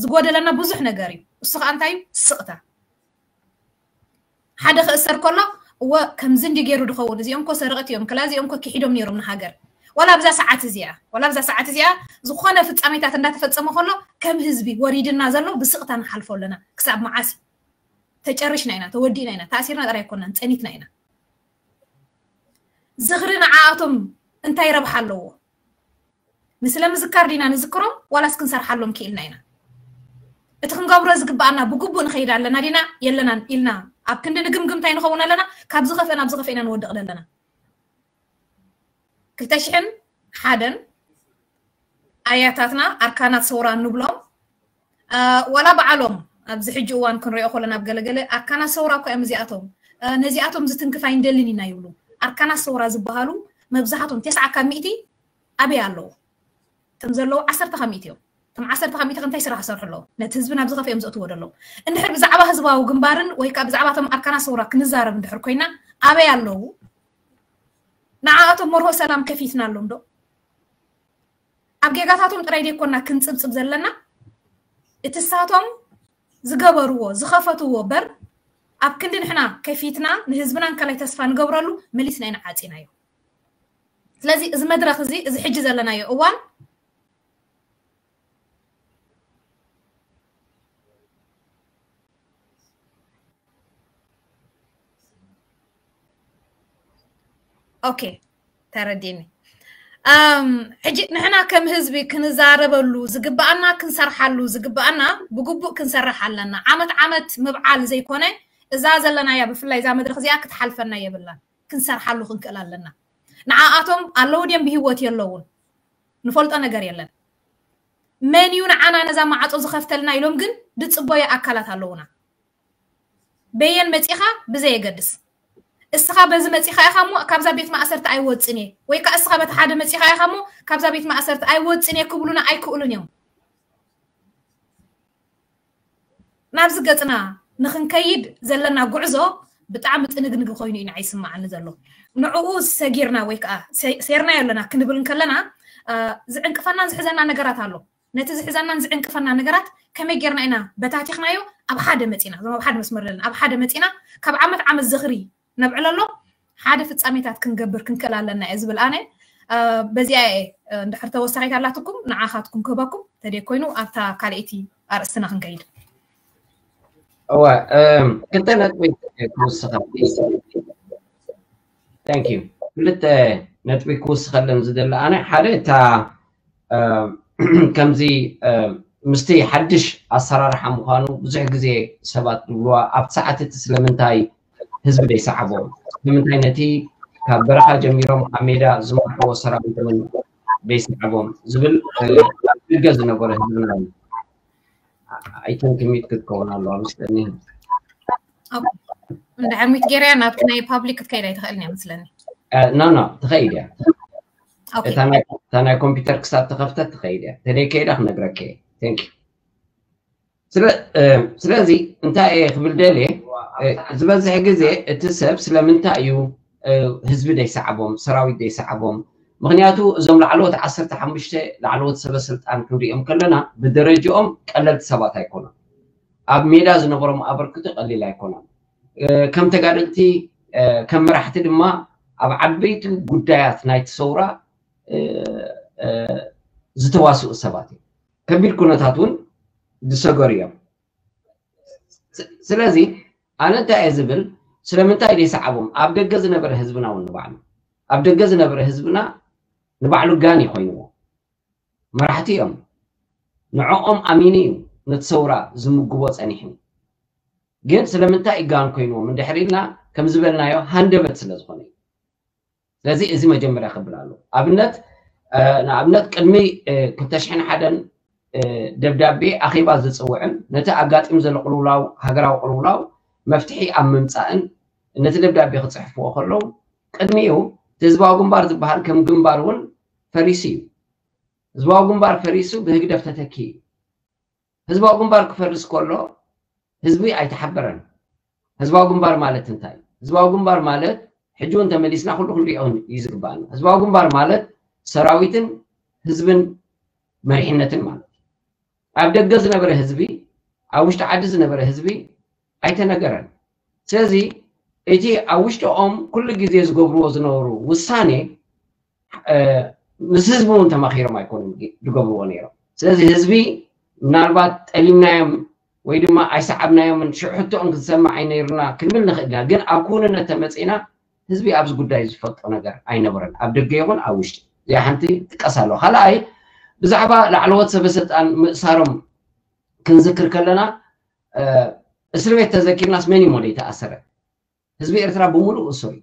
ዝጎደለና ብዙሕ ነገር እዩ። እሱ ከዓ እንታይ እዩ? ስቕታ። ሓደ ክእሰር ከሎ እወ ከምዚ እንዲ ገይሩ ድኸውን እዚኦም ኮ ሰረቕቲ እዮም ክላ እዚኦም ኮ ክሒዶም ነይሮም ንሃገር። ዋላ ኣብዛ ሰዓት እዚኣ ዋላ ኣብዛ ሰዓት እዚኣ ዝኾነ ፍጻሜታት እንዳተፈጸመ ከሎ ከም ህዝቢ ወሪድና ዘሎ ብስቕታ ንሓልፎ ኣለና። ክሳብ መዓስ እዩ? ተጨሪሽና ኢና፣ ተወዲእና ኢና፣ ተኣሲርና ጥራይ ኣይኮናን፣ ጸኒትና ኢና። ዝኽሪ ንዓኣቶም እንታይ ረብሓ ኣለዎ? ንስለ ምዝካር ዲና ንዝክሮም ዋላስ ክንሰርሓሎም ክኢልና ኢና? እቲ ክንገብሮ ዝግብኣና ብግቡእ ንኸይድ ኣለና ዲና የለናን ኢልና ኣብ ክንዲ ንግምግም እንታይ ንኸውን ኣለና? ካብ ዝኸፍአ ናብ ዝኸፍአ ኢና ንወድቕ ዘለና። ክልተ ሽሕን ሓደን ኣያታትና ኣርካናት ሰውራ እንብሎም ዋላ በዓሎም ኣብዚ ሕጂ እዋን ክንሪኦ ከለና ኣብ ገለገለ ኣርካናት ሰውራ እኮ እዮም እዚኣቶም። ነዚኣቶም ዝትንክፍ ኣይንደልን ኢና ይብሉ። ኣርካናት ሰውራ ዝበሃሉ መብዛሕቶም ተስዓ ካብ ሚእቲ ኣበይ ኣለዉ? እቶም ዘለዉ ዓሰርተ ካብ ሚእቲ እዮም። እቶም ዓሰርተ ካብ ሚእቲ እንታይ ስራሕ ይሰርሑ ኣለዉ? ነቲ ህዝቢ ናብ ዝኸፍኦም ዘእትዎ ደለዉ። እንድሕር ብዛዕባ ህዝባዊ ግንባርን ወይ ከዓ ብዛዕባ እቶም ኣርካናት ሰውራ ክንዛረብ እንድሕር ኮይና ኣበይ ኣለዉ? ንዓኣቶም መርሆ ሰላም ከፊትና ኣሎም ዶ? ኣብ ጌጋታቶም ጥራይ ዘይኮና ክንጽብጽብ ዘለና እቲ ሳቶም ዝገበርዎ ዝኸፈትዎ በር ኣብ ክንዲ ንሕና ከፊትና ንህዝብና እንከላይ ተስፋ ንገብረሉ መሊስና ኢና ዓፂናዮ። ስለዚ እዚ መድረኽ እዚ፣ እዚ ሕጂ ዘለናዮ እዋን ኦኬ፣ ተረዲኒ። ኣም፣ ሕጂ ንሕና ከም ህዝቢ ክንዛረበሉ ዝግባኣና፣ ክንሰርሓሉ ዝግባኣና ብግቡእ ክንሰርሕ ኣለና። ዓመት ዓመት ምብዓል ዘይኮነ፣ እዛ ዘለናያ፣ ብፍላይ እዛ መድረኽ እዚኣ ክትሓልፈና የብላን። ክንሰርሓሉ ክንክእል ኣለና። ንዓኣቶም ኣለዉ ድዮም ብህይወት የለውን ንፈልጦ ነገር የለን። መን እዩ ንዓና ነዛ ማዕጾ ዝኸፍተልና ኢሎም ግን ድጽበዩ ኣካላት ኣለዉና። በየን መጺኻ ብዘየገድስ፣ እስኻ በዚ መጺኻ ኢኻ እሞ ካብዛ ቤት ማእሰርቲ ኣይወጽን እየ፣ ወይ ከኣ እስኻ በቲ ሓደ መጺኻ ኢኻ እሞ ካብዛ ቤት ማእሰርቲ ኣይወጽን እየ ክብሉና ኣይክእሉን እዮም። ናብዚ ገጽና ንኽንከይድ ዘለና ጉዕዞ ብጣዕሚ ጥንግንግ ኮይኑ እዩ ንዓይ ይስምዓኒ ዘሎ። ንዕኡ ሰጊርና ወይ ከዓ ሰ-፣ ሴርናዮ ኣለና ክንብል እንከለና፣ አ፣ ዝዕንቅፈናን ዝሕዘና ነገራት ኣሎ። ነቲ ዝሕዘናን ዝዕንቅፈና ነገራት ከመይ ጌርና ኢና በታቲኽናዮ ኣብ ሓደ መጺና፣ እዞም ኣብ ሓደ መስመር ዘለና ኣብ ሓደ መጺና ካብ ዓመት ዓመት ዝኽሪ ነብዕለሎም ሓደ ፍጻሜታት ክንገብር ክንክእል ኣለና እየ ዝብል ኣነ። አ፣ በዚኣ እየ፣ አ፣ እንድሕር ተወሳኺት ኣላትኩም ንዓኻትኩም ክህበኩም፣ ተደይ ኮይኑ ኣብታ ካልኣይቲ ኣርእስትና ክንከይድ። እወ፣ እም፣ ክልተ ነጥቢ ክውስኸ። Thank you። ክልተ ነጥቢ ክውስኸለን ዝደሊ ኣነ፣ ሓደ እታ፣ እም፣ ከምዚ፣ እም፣ ምስቲ ሓድሽ ኣሰራርሓ ምዃኑ ብዙሕ ግዜ ሰባት ዝብልዋ ኣብቲ ሰዓት እቲ ስለምንታይ ህዝቢ ዘይሰዓቦም? ስለምንታይ ነቲ ካብ በረኻ ጀሚሮም ኣብ ሜዳ ዝመርሕዎ ሰራዊት እውን ዘይሰዓቦም ዝብል፣ እ፣ ኣብ ደገ ዝነበረ ህዝብና እዩ። I think ሚት ክትከውን ኣለዋ ምስለኒ። ኦኬ። እንድሕር ሚት ገይረያ ናብቲ ናይ ፓብሊክ ክትከይድ ኣይትኽእልን እያ ምስለኒ። እ፣ ኖ፣ ኖ፣ ትኸይድ እያ። ኦኬ። እታ ናይ፣ እታ ናይ ኮምፒውተር ክሳብ ተኸፍተት ትኸይድ እያ። ተደይ ከይዳ ክነግረኪ እየ። Thank you። ስለ-፣ እ፣ ስለዚ እንታይ እየ ክብል ደልየ፣ እ፣ ዝበዝሕ ግዜ እቲ ሰብ ስለምንታይ እዩ፣ እ፣ ህዝቢ ዘይሰዓቦም፣ ሰራዊት ዘይሰዓቦም? ምኽንያቱ እዞም ላዕለዎት ዓሰርተ ሓሙሽተ ላዕለዎት ሰበ ስልጣን ክንሪኦም ከለና ብደረጅኦም ቀለልቲ ሰባት ኣይኮኑን። ኣብ ሜዳ ዝነበሮም ኣበርክቶ ቀሊል ኣይኮነን። እ፣ ከም ተጋደልቲ፣ እ፣ ከም መራሕቲ ድማ ኣብ ዓበይቲ ጉዳያት ናይቲ ሰውራ፣ እ፣ እ፣ ዝተዋስኡ ሰባት እዮም። ከቢድ ኩነታት እውን ዝሰገሩ እዮም። ስ-፣ ስለዚ ኣነ እንታይ እየ ዝብል፣ ስለምንታይ ዘይሰዓቦም? ኣብ ደገ ዝነበረ ህዝብና እውን ንባዕሉ፣ ኣብ ደገ ዝነበረ ህዝብና ንባዕሉ ጋን እዩ ኮይንዎ። መራሕቲ እዮም። ንዕኦም ኣሚኑ እዩ ነቲ ሰውራ ዝምግቦ ጸኒሑ። ግን ስለምንታይ እዩ ጋን ኮይንዎም እንድሕር ኢልና፣ ከም ዝበልናዮ ሃንደበት ስለ ዝኾነ እዩ። ስለዚ እዚ መጀመርያ ክብል ኣሎ። ኣብነት፣ እ፣ ንኣብነት ቅድሚ፣ እ፣ ክልተ ሽሕን ሓደን፣ እ፣ ደብዳቤ ኣኼባ ዝጽውዕን ነቲ ኣጋጢሙ ዘሎ ቅልውላው፣ ሃገራዊ ቅልውላው መፍትሒ ኣብ ምምጻእን ነቲ ደብዳቤ ክጽሕፍዎ ከለዉ፣ ቅድሚኡ እቲ ህዝባዊ ግንባር ዝበሃል ከም ግንባር እውን ፈሪሱ እዩ። ህዝባዊ ግንባር ፈሪሱ ብህግደፍ ተተኪኡ እዩ። ህዝባዊ ግንባር ክፈርስ ከሎ ህዝቢ ኣይተሓበረን። ህዝባዊ ግንባር ማለት እንታይ? ህዝባዊ ግንባር ማለት ሕጂ እውን ተመሊስና ኩሉ ክንሪኦ እዩ ዝግባኣና። ህዝባዊ ግንባር ማለት ሰራዊትን ህዝብን መሪሕነትን ማለት እዩ። ኣብ ደገ ዝነበረ ህዝቢ፣ ኣብ ውሽጢ ዓዲ ዝነበረ ህዝቢ ኣይተነገረን። ስለዚ እቲ ኣብ ውሽጥኦም ኩሉ ግዜ ዝገብርዎ ዝነበሩ ውሳኔ፣ እ፣ ምስ ህዝቢ እውን ተማኺሮም ኣይኮኑን ግ-፣ ዝገብርዎ ነይሮም። ስለዚ ህዝቢ ምናልባት ጠሊምናዮም ወይ ድማ ኣይሰዓብናዮምን፣ ሽዑ ሕቶኦም ክንሰምዕ ኣይነይሩና ክንብል ንኽእል ኢና። ግን ኣብ ክውንነት ተመጺእና ህዝቢ ኣብዚ ጉዳይ ዝፈልጦ ነገር ኣይነበረን፣ ኣብ ደገ ይኹን ኣብ ውሽጢ። እዚኣ ሓንቲ ትጥቀስ ኣለዋ። ካልኣይ፣ ብዛዕባ ላዕለዎት ሰበ ስልጣን ምእሳሮም ክንዝክር ከለና፣ እ፣ እስር ቤት ተዘኪርናስ መን እዩ እሞ ዘይተኣሰረ? ህዝቢ ኤርትራ ብምሉእ እሱር እዩ።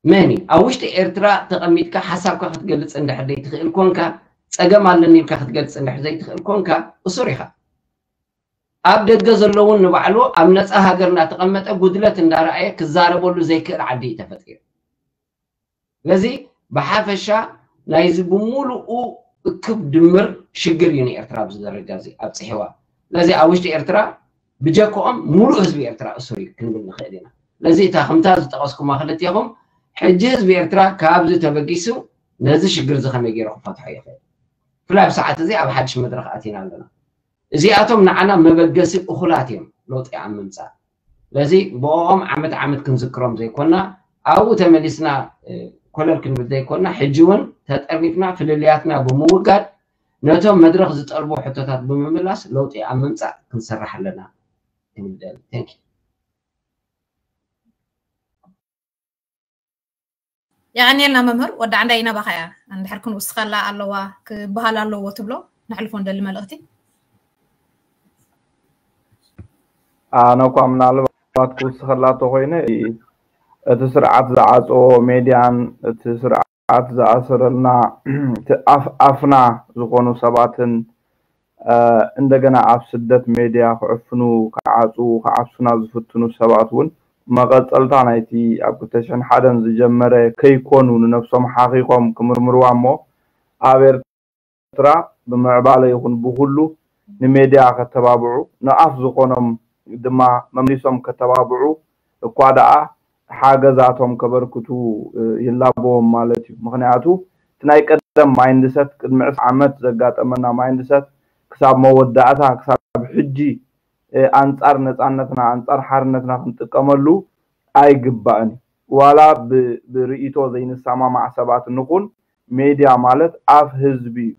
መን እዩ? ኣብ ውሽጢ ኤርትራ ተቐሚጥካ ሓሳብካ ክትገልጽ እንድሕር ዘይትኽእል ኮንካ፣ ጸገም ኣለኒ ኢልካ ክትገልጽ እንድሕር ዘይትኽእል ኮንካ፣ እሱር ኢኻ። ኣብ ደገ ዘለውን ንባዕሉ ኣብ ነጻ ሃገር እናተቐመጠ ጉድለት እንዳረኣየ ክዛረበሉ ዘይክእል ዓዲ እዩ ተፈጢሩ። ስለዚ ብሓፈሻ ናይዚ ብምሉኡ እክብ ድምር ሽግር እዩ ንኤርትራ ኣብዚ ደረጃ እዚ ኣብፅሕዋ። ስለዚ ኣብ ውሽጢ ኤርትራ ብጀክኦም ሙሉእ ህዝቢ ኤርትራ እሱር እዩ ክንብል ንኽእል ኢና። ስለዚ እታ ከምታ ዝጠቐስኩማ ክልቴኹም፣ ሕጂ ህዝቢ ኤርትራ ካብዚ ተበጊሱ ነዚ ሽግር እዚ ከመይ ገይሩ ክፈትሖ ይኽእል? ብፍላይ ኣብ ሰዓት እዚ ኣብ ሓድሽ መድረኽ ኣቲና ኣለና። እዚኣቶም ንዓና መበገሲ እኹላት እዮም ለውጢ ኣብ ምምፃእ። ስለዚ ብኦም ዓመት ዓመት ክንዝክሮም ዘይኮና ኣብኡ ተመሊስና ኮለል ክንብል ዘይኮና ሕጂ እውን ተጠርኒፍና ፍልልያትና ብምውጋድ ነቶም መድረኽ ዝጠልቡ ሕቶታት ብምምላስ ለውጢ ኣብ ምምፃእ ክንሰርሕ ኣለና። የቐንየልና መምህር። ወዲ ዓንዳይ ኢና ባኻ እያ እንድሕር ክንውስኸላ ኣለዋ ክበሃል ኣለዎ ትብሎ ነሕልፎ እንደሊ መልእኽቲ። ኣነ እኳ ምናልባት ክውስኸላ ተኮይነ እቲ ስርዓት ዝዓፀዎ ሜድያን እቲ ስርዓት ዝኣሰረልና ኣፍና ዝኾኑ ሰባትን እንደገና ኣብ ስደት ሜድያ ክዕፍኑ ክዓፅዉ ክዓብሱና ዝፍትኑ ሰባት እውን መቐፀልታ ናይቲ ኣብ ክልተ ሽሕን ሓደን ዝጀመረ ከይኮኑ ንነብሶም ሓኺኾም ክምርምርዋ እሞ ኣብ ኤርትራ ብምዕባለ ይኹን ብኩሉ ንሜድያ ከተባብዑ ንኣፍ ዝኾኖም ድማ መምሊሶም ከተባብዑ እኳ ደኣ ሓገዛቶም ከበርክቱ ይላበዎም ማለት እዩ። ምክንያቱ እቲ ናይ ቀደም ማይንድሰት ቅድሚ ዕስራ ዓመት ዘጋጠመና ማይንድሰት ክሳብ መወዳእታ ክሳብ ሕጂ ኣንጻር ነፃነትና ኣንጻር ሓርነትና ክንጥቀመሉ ኣይግባእን እዩ። ዋላ ብርእይቶ ዘይንሰማማዕ ሰባት ንኹን ሜድያ ማለት ኣፍ ህዝቢ እዩ።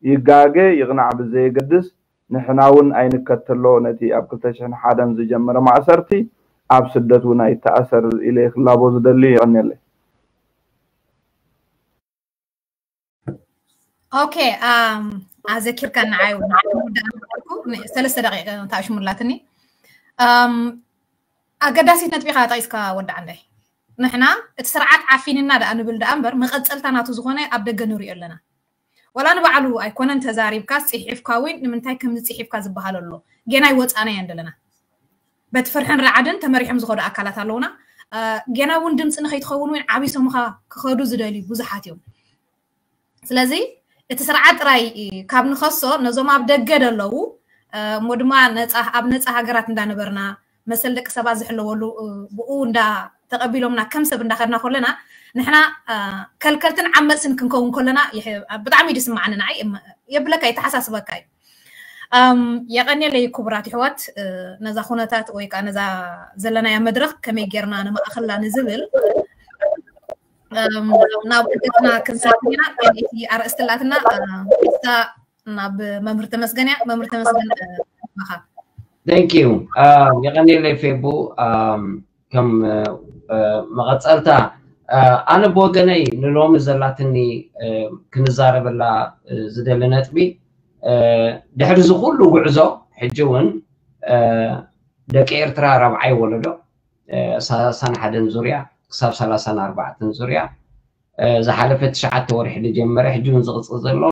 ይጋገ ይቕናዕ ብዘየገድስ ንሕና እውን ኣይንከተሎ ነቲ ኣብ ክልተ ሽሕን ሓደን ዝጀመረ ማእሰርቲ ኣብ ስደት እውን ኣይተኣሰር ኢለ ክላቦ ዝደሊ። ይቐንየለይ። ኦኬ ኣዘኪርካ ንዓይ ሰለስተ ደቂቀ ታሽሙላትኒ። ኣገዳሲት ነጥቢካ ጠቂስካ ወዲ ዓንዳይ። ንሕና እቲ ስርዓት ዓፊንና ደኣ ንብል ደኣ እምበር መቐፀልታ ናቱ ዝኾነ ኣብ ደገ ንሪኦ ኣለና። ዋላ ንባዕሉ ኣይኮነን ተዛሪብካ ፅሒፍካ ወይ ንምንታይ ከምዚ ፅሒፍካ ዝበሃል ኣሎ። ጌና ይወፃና እያን ዘለና። በቲ ፍርሕን ራዕድን ተመሪሖም ዝኸዱ ኣካላት ኣለውና። ጌና እውን ድምፂ ንኸይትኸውን ወይ ዓቢሶምኻ ክኸዱ ዝደልዩ ብዙሓት እዮም። ስለዚ እቲ ስርዓት ጥራይ ካብ ንኸሶ ነዞም ኣብ ደገ ደለዉ እሞ ድማ ኣብ ነፃ ሃገራት እንዳነበርና መሰል ደቂ ሰባት ዝሕለወሉ ብኡ እንዳ ተቐቢሎምና ከም ሰብ እንዳኸድና ከለና ንሕና ከልከልትን ዓመፅትን ክንከውን ከለና ብጣዕሚ ድስማዓኒ ንዓይ የብለካ የተሓሳስበካ እዩ። የቐንየለይ ክቡራት ይሕዋት ነዛ ኩነታት ወይ ከዓ ነዛ ዘለናያ መድረክ ከመይ ጌርና ንማእኸላ ንዝብል ናብ ውድቀትና ክንሰግር ኢና። እቲ ኣርእስቲ ላትና ናብ መምህር ተመስገን እያ። መምህር ተመስገን ባኻ። Thank you። የቐንየለይ ፌቡ። ከም መቐፀልታ ኣነ ብወገነይ ንሎሚ ዘላትኒ ክንዛረበላ ዝደሊ ነጥቢ ድሕሪ እዚ ኩሉ ጉዕዞ ሕጂ እውን ደቂ ኤርትራ ራብዓይ ወለዶ ሰላሳን ሓደን ዙርያ ክሳብ ሰላሳን ኣርባዕተን ዙርያ ዝሓለፈ ትሽዓተ ወርሒ ዝጀመረ ሕጂ እውን ዝቕፅል ዘሎ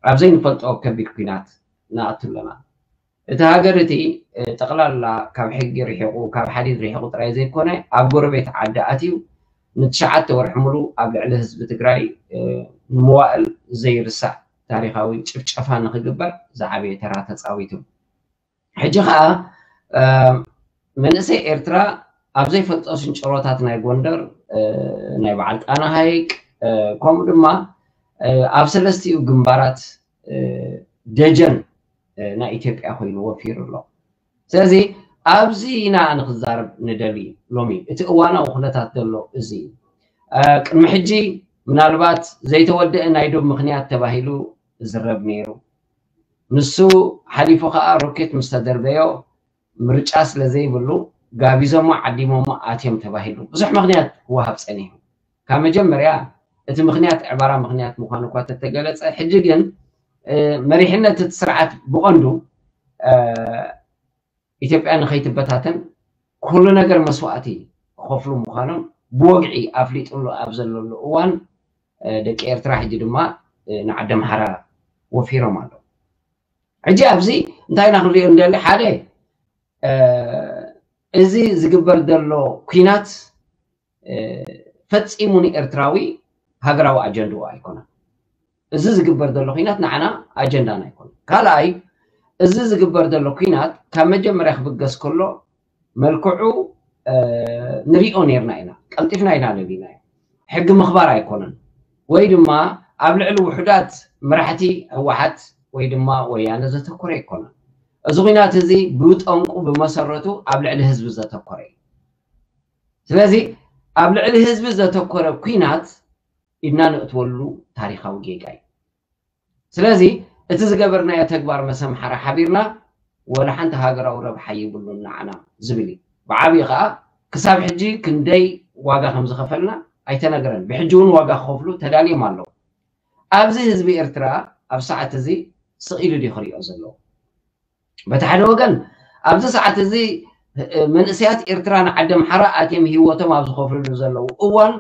ኣብ ዘይንፈልጦ ከቢድ ኲናት ንኣቱ ኣለና። እቲ ሃገር እቲ ጠቕላላ ካብ ሕጊ ርሒቑ ካብ ሓዲድ ርሒቑ ጥራይ ዘይኮነ ኣብ ጎረቤት ዓዲ ኣትዩ ንትሽዓተ ወርሒ ሙሉ ኣብ ልዕሊ ህዝቢ ትግራይ ንመዋእል ዘይርሳዕ ታሪኻዊ ጭፍጨፋ ንክግበር ዝዓበየ ተራ ተፃዊቱ። ሕጂ ከዓ መንእሰይ ኤርትራ ኣብ ዘይፈልጦ ስንጭሮታት ናይ ጎንደር ናይ በዓል ጣና ሃይቅ ከምኡ ድማ ኣብ ሰለስቲኡ ግንባራት ደጀን ናይ ኢትዮጵያ ኮይኑ ወፊሩ ኣሎ። ስለዚ ኣብዚ ኢና ንክዛረብ ንደሊ ሎሚ እቲ እዋናዊ ኩነታት ዘሎ እዚ እዩ። ቅድሚ ሕጂ ምናልባት ዘይተወደአ ናይ ዶብ ምክንያት ተባሂሉ ዝረብ ነይሩ። ንሱ ሓሊፉ ከዓ ሮኬት ምስ ተደርበዮ ምርጫ ስለ ዘይብሉ ጋቢዞሞ ዓዲሞሞ ኣትዮም ተባሂሉ ብዙሕ ምክንያት ክወሃብ ፀኒሑ። ካብ መጀመርያ እቲ ምክንያት ዕባራ ምክንያት ምኳኑ እኳ ተተገለፀ፣ ሕጂ ግን መሪሕነት እቲ ስርዓት ብቐንዱ ኢትዮጵያ ንከይትበታተን ኩሉ ነገር መስዋእቲ ክኸፍሉ ምኳኖም ብወግዒ ኣፍሊጡሉ ኣብ ዘለሉ እዋን ደቂ ኤርትራ ሕጂ ድማ ንዓዲ ኣምሓራ ወፊሮም ኣለዉ። ሕጂ ኣብዚ እንታይ ኢና ክንሪኦ እንደሊ? ሓደ እዚ ዝግበር ዘሎ ኲናት ፈፂሙ ንኤርትራዊ ሃገራዊ ኣጀንድኡ ኣይኮነን። እዚ ዝግበር ዘሎ ኲናት ንዓና ኣጀንዳና ኣይኮነን። ካልኣይ እዚ ዝግበር ዘሎ ኲናት ካብ መጀመርያ ክብገስ ከሎ መልክዑ ንሪኦ ነርና ኢና፣ ቀልጢፍና ኢና ነቢናዮ። ሕጊ ምኽባር ኣይኮነን ወይ ድማ ኣብ ልዕሊ ውሑዳት መራሕቲ ህወሓት ወይ ድማ ወያነ ዘተኮረ ኣይኮነን። እዚ ኲናት እዚ ብጠንቁ ብመሰረቱ ኣብ ልዕሊ ህዝቢ ዘተኮረ እዩ። ስለዚ ኣብ ልዕሊ ህዝቢ ዘተኮረ ኲናት ኢድና ንእትወሉ ታሪኻዊ ጌጋ እዩ። ስለዚ እቲ ዝገበርናዮ ተግባር መሰምሓራ ሓቢርና ወላ ሓንቲ ሃገራዊ ረብሓ ይብሉን ንዓና ዝብል እዩ። ብዓብዪ ከዓ ክሳብ ሕጂ ክንደይ ዋጋ ከም ዝኸፈልና ኣይተነገረን። ብሕጂ እውን ዋጋ ክኸፍሉ ተዳልዮም ኣለዉ። ኣብዚ ህዝቢ ኤርትራ ኣብ ሰዓት እዚ ስቕ ኢሉ ድዩ ክሪኦ ዘለዎ? በቲ ሓደ ወገን ኣብዚ ሰዓት እዚ መንእሰያት ኤርትራ ንዓዲ ኣምሓራ ኣትዮም ህይወቶም ኣብ ዝኸፍልሉ ዘለዉ እዋን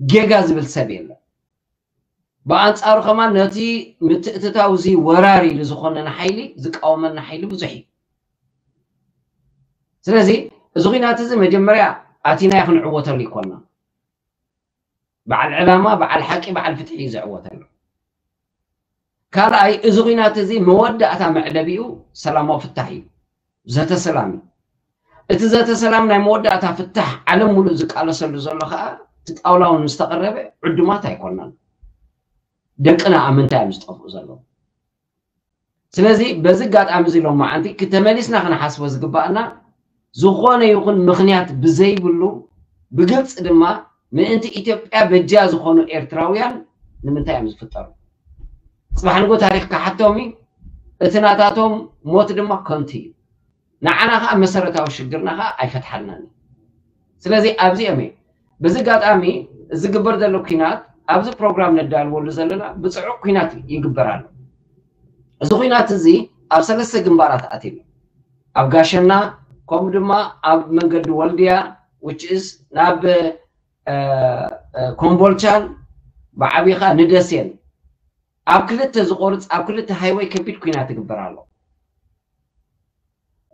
ጌጋ ዝብል ሰብ የለን። ብኣንጻሩ ከማን ነቲ ምትእትታው እዚ ወራር ኢሉ ዝኾነና ሓይሊ ዝቃወመና ሓይሊ ብዙሕ እዩ። ስለዚ እዚ ኹናት እዚ መጀመርያ ኣቲናዮ ክንዕወተሉ ይኮና። በዓል ዕላማ፣ በዓል ሓቂ፣ በዓል ፍትሒ እዩ ዝዕወተሉ። ካልኣይ እዚ ኹናት እዚ መወዳእታ መዕለቢኡ ሰላማዊ ፍታሕ እዩ። ዘተ ሰላም እዩ። እቲ ዘተ ሰላም ናይ መወዳእታ ፍታሕ ዓለም ሙሉእ ዝቃለሰሉ ዘሎ ከዓ እቲ ጣውላ እውን ምስ ተቐረበ ዕዱማት ኣይኮናን። ደቅና ኣብ ምንታይ እዮም ዝጠፍኡ ዘለዉ? ስለዚ በዚ ኣጋጣሚ እዚ ሎማዓንቲ ክተመሊስና ክንሓስቦ ዝግባኣና ዝኾነ ይኹን ምኽንያት ብዘይብሉ ብግልፂ ድማ ምእንቲ ኢትዮጵያ በጃ ዝኾኑ ኤርትራውያን ንምንታይ እዮም ዝፍጠሩ? ፅባሕ ንጎ ታሪኽ ክሓቶም እዩ። እቲ ናታቶም ሞት ድማ ከንቱ እዩ። ንዓና ከዓ መሰረታዊ ሽግርና ከዓ ኣይፈትሓልናን እዩ። ስለዚ ኣብዚኦም እዩ። በዚ ኣጋጣሚ እዚ ዝግበር ዘሎ ኲናት ኣብዚ ፕሮግራም ነዳልወሉ ዘለና ብፅዑቕ ኲናት ይግበር ኣሎ። እዚ ኲናት እዚ ኣብ ሰለስተ ግንባራት ኣትዩ ኣሎ። ኣብ ጋሸና ከምኡ ድማ ኣብ መንገዲ ወልድያ which is ናብ ኮምቦልቻን ብዓብዪ ከዓ ንደሴን ኣብ ክልተ ዝቆርፅ ኣብ ክልተ ሃይወይ ከቢድ ኲናት ይግበር ኣሎ።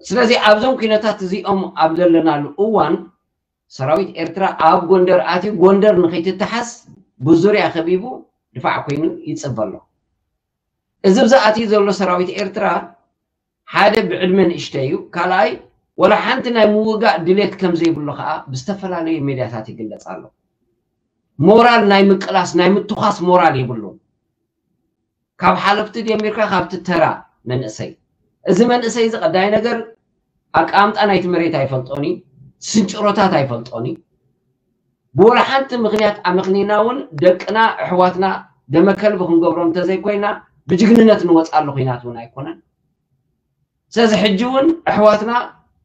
ስለዚ ኣብዞም ኲነታት እዚኦም ኣብ ዘለናሉ እዋን ሰራዊት ኤርትራ ኣብ ጎንደር ኣትዩ ጎንደር ንኸይትተሓዝ ብዙርያ ከቢቡ ድፋዕ ኮይኑ ይፅበ ኣሎ። እዚ ብዚ ኣትዩ ዘሎ ሰራዊት ኤርትራ ሓደ ብዕድመ ንእሽተይ እዩ፣ ካልኣይ ወላ ሓንቲ ናይ ምውጋእ ድሌት ከም ዘይብሉ ከዓ ብዝተፈላለዩ ሜድያታት ይግለፅ ኣሎ። ሞራል ናይ ምቅላስ ናይ ምትኳስ ሞራል የብሉን። ካብ ሓለፍቲ ጀሚርካ ካብቲ ተራ መንእሰይ። እዚ መንእሰይ እዚ ቀዳይ ነገር ኣቀማምጣ ናይቲ መሬት ኣይፈልጦን እዩ፣ ስንጭሮታት ኣይፈልጦን እዩ። ብወላ ሓንቲ ምኽንያት ኣመኽኒና እውን ደቅና ኣሕዋትና ደመ ከልቢ ክንገብሮም እንተዘይኮይና ብጅግንነት ንወፅኣሉ ኹናት እውን ኣይኮነን። ስለዚ ሕጂ እውን ኣሕዋትና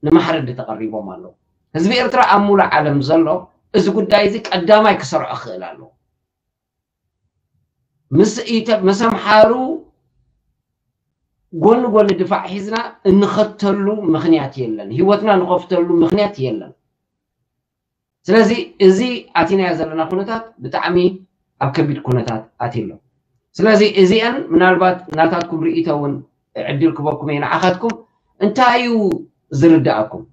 ንማሕረዲ ተቐሪቦም ኣለዉ። ህዝቢ ኤርትራ ኣብ ሙሉእ ዓለም ዘሎ እዚ ጉዳይ እዚ ቀዳማይ ክሰርዖ ክኽእል ኣለዎ። ምስ ኢተ- ምስ ኣምሓሩ ጎኒ ጎኒ ድፋዕ ሒዝና እንኸተሉ ምኽንያት የለን። ህይወትና ንኸፍተሉ ምኽንያት የለን። ስለዚ እዚ ኣቲናዮ ዘለና ኩነታት ብጣዕሚ ኣብ ከቢድ ኩነታት ኣትዩ ኣሎ። ስለዚ እዚአን ምናልባት ናታትኩም ርእይቶ እውን ዕድል ክበኩም እየ ንዓኻትኩም እንታይ እዩ ዝርዳእኩም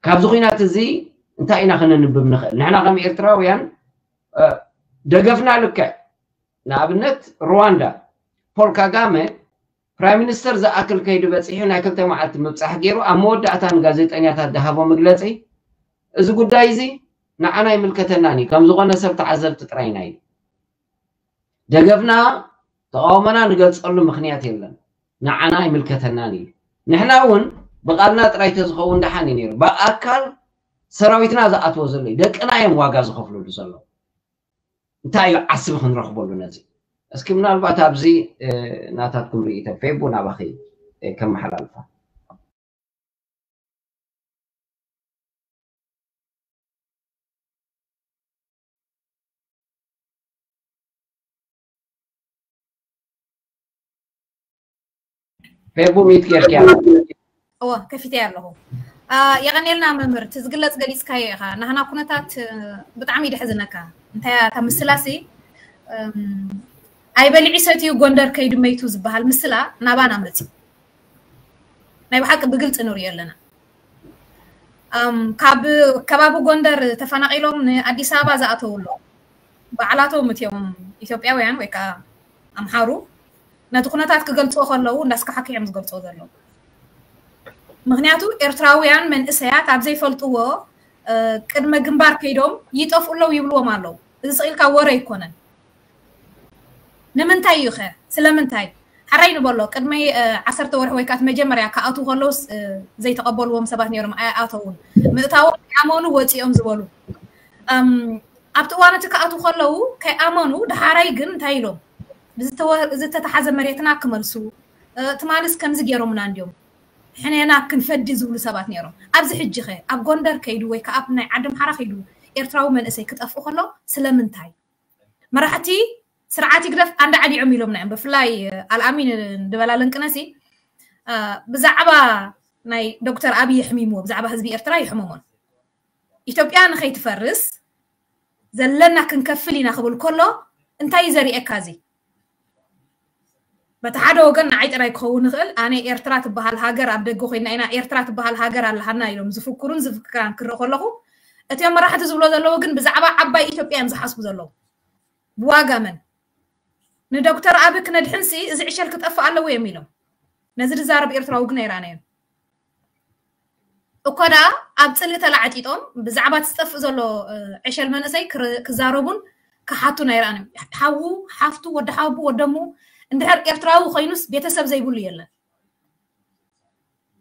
ካብዚ ኩናት እዚ እንታይ ኢና ከነንብብ ንኽእል ንሕና ከም ኤርትራውያን ደገፍና ልክዕ ንኣብነት ሩዋንዳ ፖል ካጋመ ፕራይም ሚኒስተር ዝኣክል ከይዱ በፂሑ ናይ ክልተ መዓልቲ ምብፃሕ ገይሩ ኣብ መወዳእታ ንጋዜጠኛታት ዝሃቦ መግለፂ እዚ ጉዳይ እዚ ንዓና ይምልከተናን እዩ ከም ዝኾነ ሰብ ተዓዘብቲ ጥራይና እዩ ደገፍና ተቃውሞና ንገልፀሉ ምኽንያት የለን ንዓና ይምልከተናን እዩ ንሕና እውን ብቃልና ጥራይ ተዝኸውን ደሓን እዩ ነይሩ ብኣካል ሰራዊትና ዝኣትዎ ዘሎ እዩ ደቅና እዮም ዋጋ ዝኸፍሉሉ ዘለዉ እንታይ እዩ ዓስቢ ክንረኽበሉ ነዚ እስኪ ምናልባት ኣብዚ ናታትኩም ርእይቶ ፌቡ ናባኺ ከመሓላልፋ ፌቡ ሚት ጌርኪያ እወ ከፊተ ኣለኹ የቐኔልና መምህር እቲ ዝግለፅ ገሊፅካዮ ኢኻ ናህና ኩነታት ብጣዕሚ ይድሕዝነካ እንታይ እታ ምስላሲ ኣይበሊዑ ሰትዩ ጎንደር ከይዱ መይቱ ዝበሃል ምስላ ናባና መፅዩ ናይ ብሓቂ ብግልፂ ንሪኦ ኣለና ካብ ከባቢ ጎንደር ተፈናቒሎም ንኣዲስ ኣበባ ዝኣተው ኣሎ ባዕላቶም እትዮም ኢትዮጵያውያን ወይ ከዓ ኣምሓሩ ነቲ ኩነታት ክገልፅዎ ከለዉ እንዳስካሓኪ እዮም ዝገልፅዎ ዘለዉ ምክንያቱ ኤርትራውያን መንእሰያት ኣብ ዘይፈልጥዎ ቅድመ ግንባር ከይዶም ይጠፍኡ ኣለዉ ይብልዎም ኣለዉ እዚ ስቕ ኢልካ ወረ ኣይኮነን ንምንታይ እዩ ኸ ስለምንታይ ሕራይ ንበሎ። ቅድሚ ዓሰርተ ወርሒ ወይ ከዓ መጀመርያ ክኣትዉ ከለውስ ዘይተቐበልዎም ሰባት ነይሮም፣ ኣይኣተውን። ምእታዎም ኣመኑ ወፂኦም ዝበሉ። ኣብቲ እዋን እቲ ክኣትዉ ከለዉ ከይኣመኑ፣ ድሓራይ ግን እንታይ ኢሎም? ዝተተሓዘ መሬትና ክመልሱ፣ ትማልስ ከምዚ ገይሮምና እንዲዮም፣ ሕኔና ክንፈዲ ዝብሉ ሰባት ነይሮም። ኣብዚ ሕጂ ኸ ኣብ ጎንደር ከይዱ ወይ ከዓ ኣብ ናይ ዓዲ ኣምሓራ ከይዱ ኤርትራዊ መንእሰይ ክጠፍኡ ከሎ ስለምንታይ? መራሕቲ ስርዓት ይግደፍ ኣንዳ ዓሊዖም ኢሎምና እዮም። ብፍላይ ኣልኣሚን ድበላ ለንቅነሲ ብዛዕባ ናይ ዶክተር ኣብይ የሕሚምዎ፣ ብዛዕባ ህዝቢ ኤርትራ ይሕመሞን። ኢትዮጵያ ንኸይትፈርስ ዘለና ክንከፍል ኢና ክብል ከሎ እንታይ እዩ ዘርእየካ? እዚ በቲ ሓደ ወገን ንዓይ ጥራይ ክኸውን ይኽእል። ኣነ ኤርትራ ትበሃል ሃገር ኣብ ደገ ኮይና ኢና ኤርትራ ትበሃል ሃገር ኣለሃና ኢሎም ዝፍክሩን ዝፍክራን ክርኢ ከለኹ፣ እቲኦም መራሕቲ ዝብሎ ዘለዉ ግን ብዛዕባ ዓባይ ኢትዮጵያ እዮም ዝሓስቡ ዘለዉ። ብዋጋ መን ንዶክተር ኣቢ ክነድሕንሲ እዚ ዕሸል ክጠፍእ ኣለዎ እዮም ኢሎም። ነዚ ዝዛረብ ኤርትራዊ ግን ኣይረኣናዮን። እኮ ደኣ ኣብ ጽልኢ ተላዕጢጦም ብዛዕባ እቲ ዝጠፍእ ዘሎ ዕሸል መንእሰይ ክዛረቡን ክሓቱን ኣይረኣናዮም። ሓዉ ሓፍቱ፣ ወዲ ሓቡ፣ ወደሙ እንድሕር ኤርትራዊ ኮይኑስ ቤተሰብ ዘይብሉ የለን።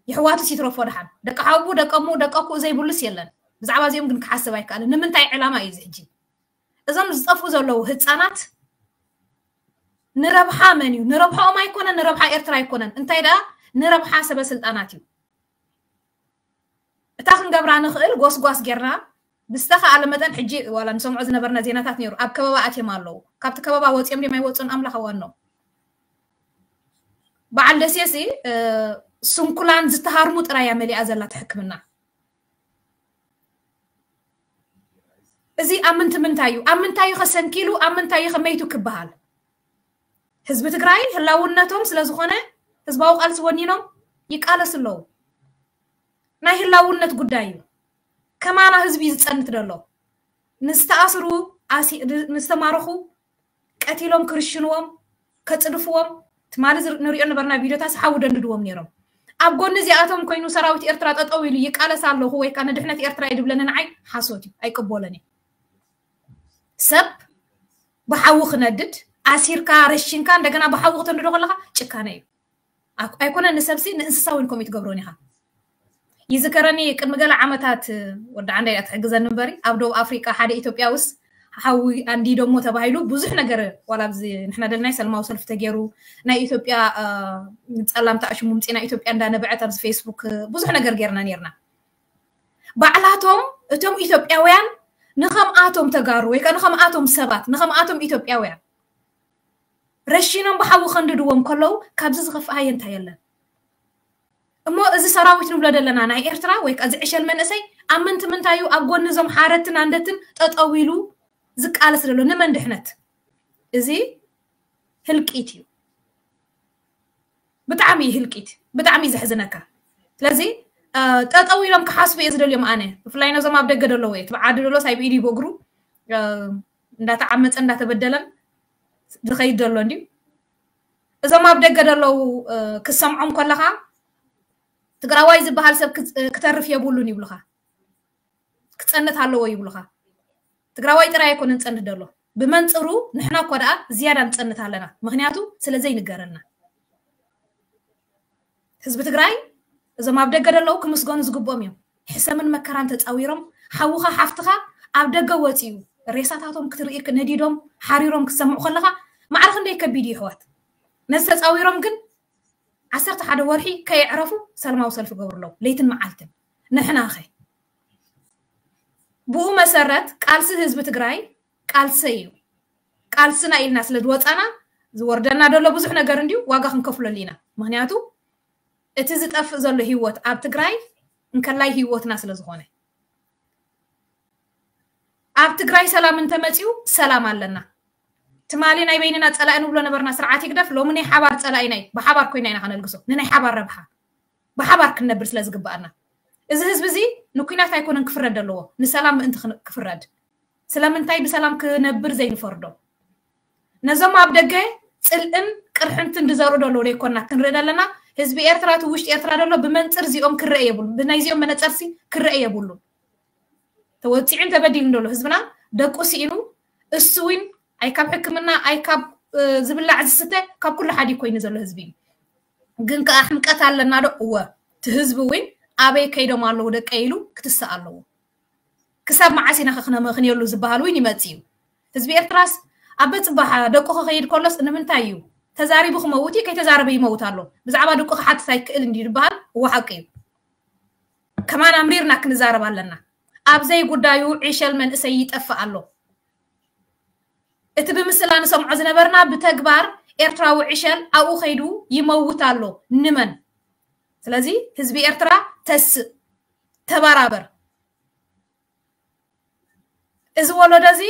የሕዋቱስ ይትረፎ ደሓን፣ ደቂ ሓቡ፣ ደቀሙ፣ ደቀኩ ዘይብሉስ የለን። ብዛዕባ እዚኦም ግን ክሓስብ ኣይከኣልን። ንምንታይ ዕላማ እዩ እዚ ሕጂ? እዞም ዝጠፍኡ ዘለዉ ህፃናት ንረብሓ መን እዩ? ንረብሓኦም ኣይኮነን፣ ንረብሓ ኤርትራ ኣይኮነን። እንታይ ደኣ ንረብሓ ሰበ ስልጣናት እዩ። እታ ክንገብራ ንኽእል ጎስጓስ ጌርና ብዝተኻኣለ መጠን፣ ሕጂ ዋላ ንሰምዖ ዝነበርና ዜናታት ነይሩ፣ ኣብ ከበባ ኣትዮም ኣለዉ። ካብቲ ከበባ ወፂኦም ድዮም ኣይወፁን ኣምላኽ ኣዋኖ። በዓል ደሴሲ ስንኩላን ዝተሃርሙ ጥራይ እያ መሊኣ ዘላ ሕክምና። እዚ ኣብ ምንቲ ምንታይ እዩ? ኣብ ምንታይ እዩ ከሰንኪሉ? ኣብ ምንታይ እዩ ከመይቱ ክበሃል? ህዝቢ ትግራይ ህላውነቶም ስለ ዝኾነ ህዝባዊ ቃልሲ ወኒኖም ይቃለሱ ኣለዉ። ናይ ህላውነት ጉዳይ እዩ። ከማና ህዝቢ እዩ ዝጸንት ዘሎ። ንዝተኣስሩ፣ ንዝተማረኹ ቀቲሎም ክርሽንዎም፣ ከጽድፍዎም፣ ትማሊ ንሪኦ ነበርና ቪዲዮታት ሓዊ ደንድድዎም ነይሮም። ኣብ ጎኒ እዚኣቶም ኮይኑ ሰራዊት ኤርትራ ጠጠው ኢሉ ይቃለስ ኣለኹ ወይ ከዓ ንድሕነት ኤርትራ እዩ ድብለኒ ንዓይ ሓሶት እዩ፣ ኣይቅበሎን እየ። ሰብ ብሓዊ ክነድድ ኣሲርካ ረሽንካ እንደገና ብሓዊ ክተንድዶ ከለካ ጭካነ እዩ። ኣይኮነ ንሰብሲ ንእንስሳ እውን ከምኡ ትገብሮን ኢኻ። ይዝከረኒ ቅድሚ ገለ ዓመታት ወዲ ዓንዳይ እያ ትሕግዘኒ እምበሪ ኣብ ደቡብ ኣፍሪቃ ሓደ ኢትዮጵያውስ ሓዊ ኣንዲዶሞ ተባሂሉ ብዙሕ ነገር ዋላ ኣብዚ ንሕና ደልናይ ሰልማዊ ሰልፊ ተገይሩ ናይ ኢትዮጵያ ጸላምታ ኣሽሙ ምፂና ኢትዮጵያ እንዳነበዐት ኣብዚ ፌስቡክ ብዙሕ ነገር ገይርና ነርና። ባዕላቶም እቶም ኢትዮጵያውያን ንኸምኣቶም ተጋሩ ወይ ከዓ ንኸምኣቶም ሰባት ንኸምኣቶም ኢትዮጵያውያን ረሺኖም ብሓዊ ከንድድዎም ከለዉ ካብዚ ዝኸፍእ ሃየ እንታይ የለን። እሞ እዚ ሰራዊት ንብሎ ዘለና ናይ ኤርትራ ወይ ከዓ ዝዕሸል መንእሰይ ኣብ ምንቲ ምንታይ እዩ ኣብ ጎኒ እዞም ሓረትን ኣንደትን ጠጠው ኢሉ ዝቃለስ ዘሎ ንመን ድሕነት? እዚ ህልቂት እዩ። ብጣዕሚ ህልቂት፣ ብጣዕሚ ዘሕዝነካ። ስለዚ ጠጠው ኢሎም ክሓስቡ እየ ዝደልዮም ኣነ፣ ብፍላይ ነዞም ኣብ ደገ ደለዉ እየ ትብዓዲ ደሎስ ኣይብኢድ እዩ ብእግሩ እንዳተዓመፀ እንዳተበደለን ዝኸይድ ዘሎ እንዲዩ። እዞም ኣብ ደገ ደለዉ ክሰምዖም ከለኻ ትግራዋይ ዝበሃል ሰብ ክተርፍ የብሉን ይብሉኻ። ክፀንት ኣለዎ ይብሉኻ። ትግራዋይ ጥራይ ኣይኮነን ፀንት ደሎ፣ ብመንፅሩ ንሕና እኳ ደኣ ዝያዳ ንፀንት ኣለና። ምክንያቱ ስለ ዘይንገረልና። ህዝቢ ትግራይ እዞም ኣብ ደገ ደለዉ ክምስገኑ ዝግብኦም እዮም። ሕሰምን መከራን ተፃዊሮም ሓውኻ ሓፍትኻ ኣብ ደገ ወፂኡ ሬሳታቶም ክትርኢ ነዲዶም ሓሪሮም ክትሰምዑ ከለኻ ማዕረ ክንደይ ከቢድ እዩ ይሕዋት። ነዚ ተፃዊሮም ግን ዓሰርተ ሓደ ወርሒ ከየዕረፉ ሰላማዊ ሰልፊ ገብሩ ኣለዉ ለይትን መዓልትን። ንሕና ኸ ብኡ መሰረት ቃልሲ ህዝቢ ትግራይ ቃልሰይ እዩ። ቃልስና ኢልና ስለ ዝወፃና ዝወርደና ዘሎ ብዙሕ ነገር እንዲዩ ዋጋ ክንከፍለሉ ኢና። ምክንያቱ እቲ ዝጠፍእ ዘሎ ህይወት ኣብ ትግራይ እንከላይ ህይወትና ስለ ዝኾነ ኣብ ትግራይ ሰላም እንተመፅዩ ሰላም ኣለና። ትማሊ ናይ በይንና ፀላኢ ንብሎ ነበርና ስርዓት ይግደፍ፣ ሎሚ ናይ ሓባር ፀላኢና እዩ። ብሓባር ኮይና ኢና ከነልግሶ ንናይ ሓባር ረብሓ ብሓባር ክንነብር ስለ ዝግብኣና። እዚ ህዝቢ እዚ ንኩናት ኣይኮነን ክፍረድ ኣለዎ፣ ንሰላም ምእንቲ ክፍረድ። ስለምንታይ ብሰላም ክነብር ዘይንፈርዶ? ነዞም ኣብ ደገ ፅልእን ቅርሕንትን ዝዘርኡ ዘለዉ ዘይኮና ክንርኢ ዘለና። ህዝቢ ኤርትራ እቲ ውሽጢ ኤርትራ ዘሎ ብመንፅር እዚኦም ክረአ የብሉ፣ ብናይዚኦም መነፀርሲ ክረአ የብሉ። ተወፂዑን ተበዲሉን ዘሎ ህዝብና ደቁ ስኢኑ እሱ እውን ኣይ ካብ ሕክምና ኣይ ካብ ዝብላዕ ዝስተ ካብ ኩሉ ሓዲ ኮይኑ ዘሎ ህዝቢ እዩ። ግን ከዓ ሕምቀት ኣለና ዶ? እወ። እቲ ህዝቢ እውን ኣበይ ከይዶም ኣለዉ ደቀይ ኢሉ ክትስእ ኣለዎ። ክሳብ መዓስ ኢና ከክነመኽንየሉ ዝበሃል እውን ይመጽእ እዩ። ህዝቢ ኤርትራስ ኣብ በጽባሕ ደቁ ክኸይድ ከሎስ ንምንታይ እዩ ተዛሪቡ ክመውት እዩ፣ ከይተዛረበ ይመውት ኣሎ። ብዛዕባ ደቁ ክሓትት ኣይክእል እንዲ ዝበሃል እዎ ሓቂ እዩ። ከማን ኣምሪርና ክንዛረብ ኣለና። ኣብ ዘይጉዳዩ ዕሸል መንእሰይ ይጠፍእ ኣሎ። እቲ ብምስላ ንሰምዖ ዝነበርና ብተግባር ኤርትራዊ ዕሸል ኣብኡ ከይዱ ይመውት ኣሎ። ንመን? ስለዚ ህዝቢ ኤርትራ ተስእ፣ ተባራበር። እዚ ወለዶ እዚ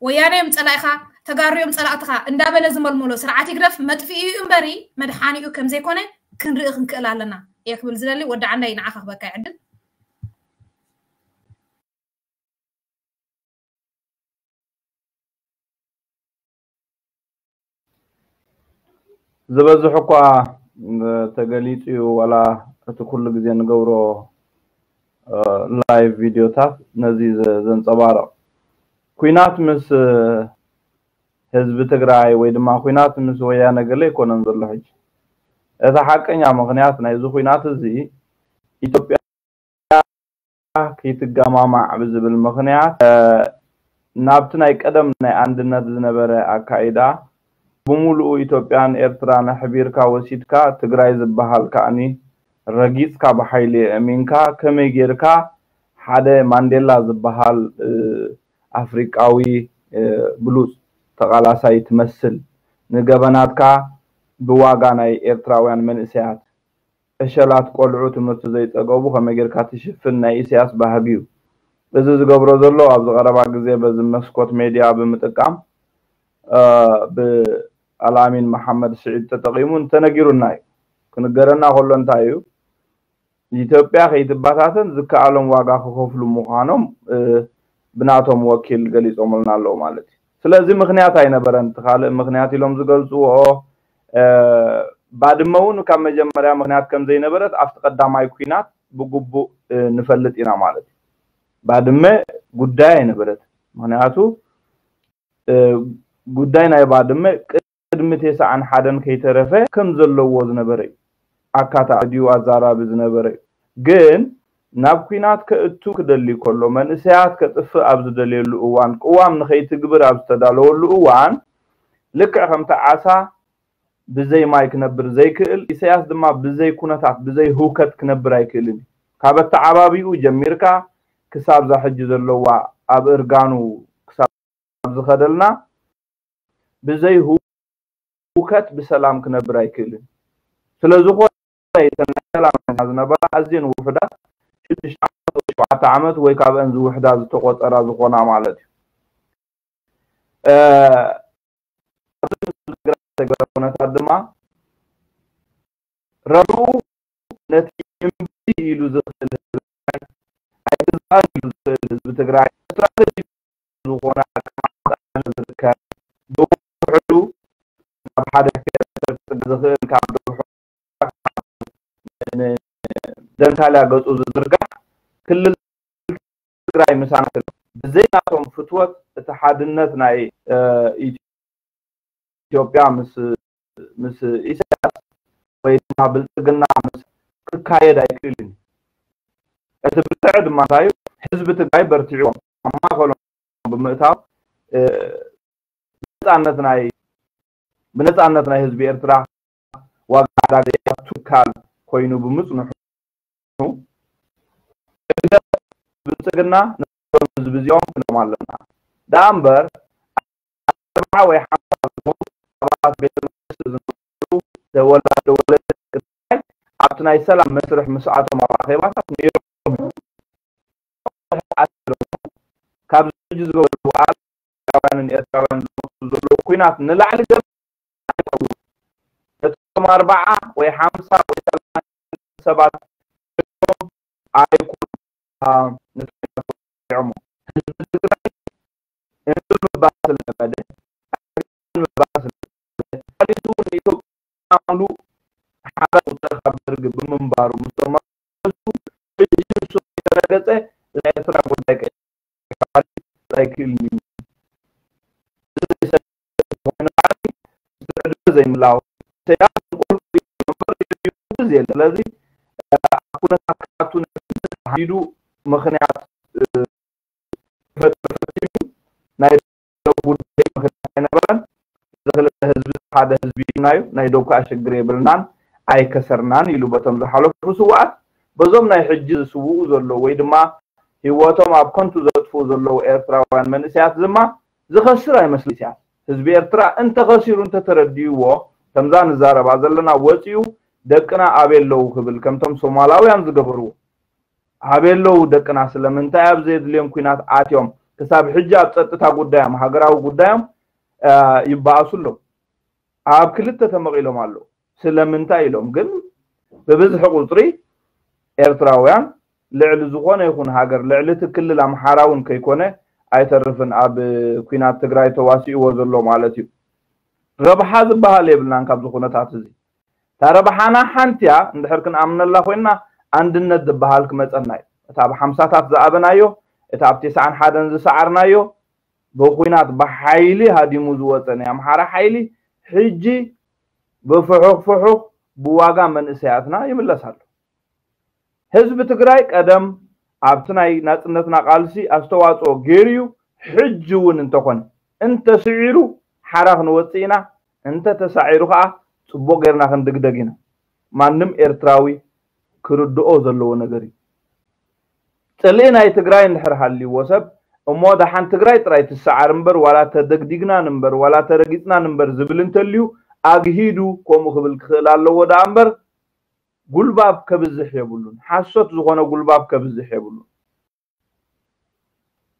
ወያነ እዮም ጸላኢኻ፣ ተጋሩ እዮም ጸላእትኻ እንዳበለ ዝመልመሎ ስርዓት ይግደፍ መጥፍኢኡ እምበሪ መድሓኒኡ ከም ዘይኮነ ክንርኢ ክንክእል ኣለና እየ ክብል ዝደሊ። ወዲ ዓንዳይ ንዓኻ ክበካ ይዕድል። ዝበዝሕ እኳ ተገሊጹ እዩ፣ ዋላ እቲ ኩሉ ግዜ ንገብሮ ላይቭ ቪድዮታት ነዚ ዘንፀባርቕ። ኩናት ምስ ህዝቢ ትግራይ ወይ ድማ ኩናት ምስ ወያነ ገለ ኣይኮነን ዘሎ ሕጂ። እቲ ሓቀኛ ምኽንያት ናይዚ ኩናት እዚ ኢትዮጵያ ከይትገማማዕ ብዝብል ምኽንያት ናብቲ ናይ ቀደም ናይ ኣንድነት ዝነበረ ኣካይዳ ብምሉኡ ኢትዮጵያን ኤርትራን ኣሕቢርካ ወሲድካ ትግራይ ዝበሃል ከኣኒ ረጊፅካ ብሓይሊ ኣእሚንካ ከመይ ጌርካ ሓደ ማንዴላ ዝበሃል ኣፍሪቃዊ ብሉፅ ተቓላሳይ ትመስል ንገበናትካ ብዋጋ ናይ ኤርትራውያን መንእሰያት ዕሸላት ቆልዑ ትምህርቲ ዘይፀገቡ ከመይ ጌርካ ትሽፍን ናይ ኢሳያስ ባህጊ እዩ። እዚ ዝገብሮ ዘሎ ኣብዚ ቀረባ ግዜ በዚ መስኮት ሜድያ ብምጥቃም ብኣልኣሚን መሓመድ ስዒድ ተጠቒሙ እንተነጊሩና እዩ። ክንገረና ከሎ እንታይ እዩ? ኢትዮጵያ ከይትባታተን ዝከኣሎም ዋጋ ክኸፍሉ ምዃኖም ብናቶም ወኪል ገሊፆምልና ኣለዉ ማለት እዩ። ስለዚ ምኽንያት ኣይነበረን። እቲ ካልእ ምኽንያት ኢሎም ዝገልፅዎ ባድመ እውን ካብ መጀመርያ ምኽንያት ከም ዘይነበረት ኣብቲ ቀዳማይ ኩናት ብግቡእ ንፈልጥ ኢና ማለት እዩ። ባድመ ጉዳይ ኣይነበረት። ምኽንያቱ ጉዳይ ናይ ባድመ ቅድሚ ቴስዓን ሓደን ከይተረፈ ከም ዘለዎ ዝነበረ እዩ። ኣካታ ድዩ ኣዛራቢ ዝነበረ እዩ። ግን ናብ ኩናት ከእቱ ክደሊ ከሎ መንእሰያት ከጥፍእ ኣብ ዝደልየሉ እዋን ቅዋም ንኸይትግብር ኣብ ዝተዳለወሉ እዋን ልክዕ ከምቲ ዓሳ ብዘይ ማይ ክነብር ዘይክእል ኢሳያስ ድማ ብዘይ ኩነታት ብዘይ ህውከት ክነብር ኣይክእልን እዩ። ካብ ኣተዓባቢኡ ጀሚርካ ክሳብ ዛ ሕጂ ዘለዋ ኣብ እርጋኑ ክሳብ ዝኸደልና ብዘይ ህውከት ብሰላም ክነብር ኣይክእልን። ስለዝኾነ እተን ናይ ሰላም ዝነበራ ኣዝየን ውሑዳት ሽዱሽተ ዓመት ወይ ሸውዓተ ዓመት ወይ ካብአን ዝውሕዳ ዝተቆፀራ ዝኾና ማለት እዩ። ኣብዚ ትግራይ ዝተገበረ ኩነታት ድማ ረብኡ ነቲ እምቢ ኢሉ ዝኽእል ህዝቢ ትግራይ ኣይግዛእን ኢሉ ዝኽእል ህዝቢ ትግራይ ስትራተጂ ዝኾነ ኣቀማምጣ ዝርከብ ብውሕዱ ናብ ሓደ ክልተ ዝኽእል ካብ ደንካልያ ገፁ ዝዝርጋሕ ክልል ትግራይ ምሳና ብዘይ ናቶም ፍትወት እቲ ሓድነት ናይ ኢትዮጵያ ምስ ምስ ኢሳያስ ወይ ድማ ብልፅግና ምስ ክካየድ ኣይክእልን። እቲ ብልፅዕ ድማ እንታይ እዩ? ህዝቢ ትግራይ በርቲዕዎም ኣብ ማእኸሎም ብምእታው ነፃነት ናይ ብነፃነት ናይ ህዝቢ ኤርትራ ዋጋ ዕዳጋ ዘይኣቱ ትካል ኮይኑ ብምፅንሑ ህግደፍ ብልፅግና ነዞም ህዝቢ እዚኦም ክነዎም ኣለና። ደኣ እምበር ኣርብዓ ወይ ሓምሳ ዝኾኑ ኣባላት ቤተ መንግስቲ ዝነበሩ ደወላ ደወለ ትግራይ ኣብቲ ናይ ሰላም መስርሕ ምስኣቶም ኣብ ኣኼባታት ነይሮም እዮም። ካብዚ ሕጂ ዝገብሩ በዓል ኤርትራውያንን ኤርትራውያን ዝመሱ ዘለዉ ኩናት ንላዕሊ ገለ ኣይኸውን። ነቶም ኣርብዓ ወይ ሓምሳ ወይ ሰላሳ ሰባት ኣይኮኑን ነጢዖሞ። ህዝቢ ትግራይ እንቢ ምባል ስለለመደ፣ ምባል ስለለመደ፣ ተፋሊጡ ንኢትዮጵያ ምሉእ ሓራ ቁፅሪ ካብ ደርጊ ብምንባሩ ምስቶም መሱ ሕጂ ንሱ ከይተረገፀ ናይ ኤርትራ ጉዳይ ኣይክእልን እዩ። እዚ ዘይሰ-፣ ኮይኑ ከዓኒ ዘይምላው። ኢሳያስ ንቁልቁል እዩ እምበር የለን። ስለዚ ኣብ ኩነታት ክኣቱ ተሓዲዱ ምኽንያት ፈጢሩ ናይ ደው ጉዳይ ምኽንያት ኣይነበረን። እዚ ክልተ ህዝቢ ሓደ ህዝቢ ኢልናዩ፣ ናይ ደው ከዓ ሽግር የብልናን ኣይከሰርናን ኢሉ በቶም ዝሓለፉ ስውኣት። በዞም ናይ ሕጂ ዝስውኡ ዘለዉ ወይ ድማ ህይወቶም ኣብ ከንቱ ዘጥፍኡ ዘለዉ ኤርትራውያን መንእሰያት ድማ ዝኸስር ኣይመስል ኢሳያስ። ህዝቢ ኤርትራ እንተኸሲሩ እንተተረዲእዎ፣ ከምዛ ንዛረባ ዘለና ወፂኡ ደቅና ኣበይ ኣለዉ ክብል ከምቶም ሶማላውያን ዝገበርዎ ኣበይ ኣለዉ ደቅና? ስለምንታይ ኣብ ዘየድልዮም ኲናት ኣትዮም? ክሳብ ሕጂ ኣብ ጸጥታ ጉዳዮም፣ ሃገራዊ ጉዳዮም ይበኣሱ ኣለዉ። ኣብ ክልተ ተመቒሎም ኣለዉ። ስለምንታይ ኢሎም ግን ብብዝሒ ቁጽሪ ኤርትራውያን ልዕሊ ዝኾነ ይኹን ሃገር፣ ልዕሊ እቲ ክልል ኣምሓራ እውን ከይኮነ ኣይተርፍን ኣብ ኲናት ትግራይ ተዋሲእዎ ዘሎ ማለት እዩ። ረብሓ ዝበሃል የብልናን ካብዚ ኩነታት እዚ። እታ ረብሓና ሓንቲ እያ እንድሕር ክንኣምነላ ኮይንና፣ ኣንድነት ዝበሃል ክመጸና እዩ። እታ ኣብ ሓምሳታት ዝኣበናዮ፣ እታ ኣብ ተስዓን ሓደን ዝሰዓርናዮ፣ ብኹናት ብሓይሊ ሃዲሙ ዝወጸ ናይ ኣምሓራ ሓይሊ ሕጂ ብፍሑኽ ፍሑኽ ብዋጋ መንእሰያትና ይምለስ ኣሎ። ህዝቢ ትግራይ ቀደም ኣብቲ ናይ ናጽነትና ቃልሲ ኣስተዋጽኦ ገይሩ እዩ። ሕጂ እውን እንተኾነ እንተስዒሩ ሓራ ክንወጽእ ኢና። እንተተሳዒሩ ከዓ ጽቡቕ ጌርና ክንድግደግ ኢና። ማንም ኤርትራዊ ክርድኦ ዘለዎ ነገር እዩ። ጽልኢ ናይ ትግራይ እንድሕር ሃልይዎ ሰብ እሞ ደሓን ትግራይ ጥራይ ትሰዓር እምበር ዋላ ተደግዲግናን እምበር ዋላ ተረጊጽናን እምበር ዝብል እንተልዩ ኣግሂዱ ከምኡ ክብል ክኽእል ኣለዎ ደኣ እምበር ጉልባብ ከብዝሕ የብሉን። ሓሶት ዝኾነ ጉልባብ ከብዝሕ የብሉን።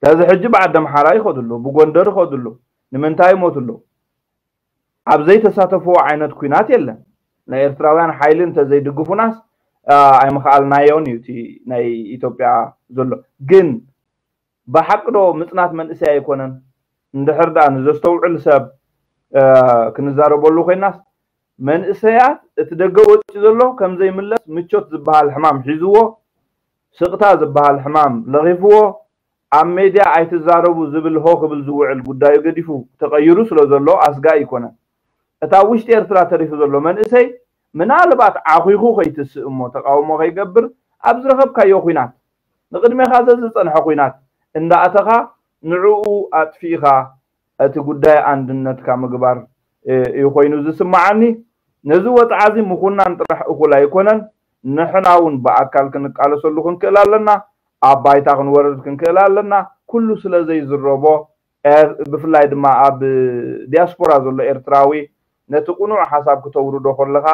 ስለዚ ሕጂ ብዓዲ ኣምሓራ ይኸዱ ኣለዉ፣ ብጎንደር ይኸዱ ኣለዉ። ንምንታይ ይሞቱ ኣለዉ? ኣብ ዘይተሳተፍዎ ዓይነት ኲናት የለን። ናይ ኤርትራውያን ሓይሊ እንተዘይድግፉናስ ኣይምኽኣልናዮን እዩ እቲ ናይ ኢትዮጵያ ዘሎ። ግን ብሓቂ ዶ ምጽናት መንእሰይ ኣይኮነን? እንድሕር ደኣ ንዘስተውዕል ሰብ ክንዛረበሉ ኮይናስ መንእሰያት እቲ ደገ ወጺኡ ዘሎ ከም ዘይምለስ ምቾት ዝበሃል ሕማም ሒዝዎ፣ ስቕታ ዝበሃል ሕማም ለኺፍዎ፣ ኣብ ሜድያ ኣይትዛረቡ ዝብል ሆ ክብል ዝውዕል ጉዳዩ ገዲፉ ተቐይሩ ስለ ዘሎ ኣስጋኢ ኣይኮነን። እታ ውሽጢ ኤርትራ ተሪፉ ዘሎ መንእሰይ ምናልባት ዓኺኹ ከይትስእ እሞ ተቃውሞ ከይገብር ኣብ ዝረኸብካዮ ኲናት ንቕድሜኻ ዘዝጸንሐ ኲናት እንዳእተኻ ንዕኡ ኣጥፊእኻ እቲ ጉዳይ ኣንድነትካ ምግባር እዩ ኮይኑ ዝስምዓኒ። ነዚ ወጽዓ እዚ ምኹናን ጥራሕ እኹል ኣይኮነን። ንሕና እውን ብኣካል ክንቃለሰሉ ክንክእል ኣለና። ኣብ ባይታ ክንወርድ ክንክእል ኣለና። ኩሉ ስለ ዘይዝረቦ ብፍላይ ድማ ኣብ ዲያስፖራ ዘሎ ኤርትራዊ ነቲ ቅኑዕ ሓሳብ ክተውርዶ ከለኻ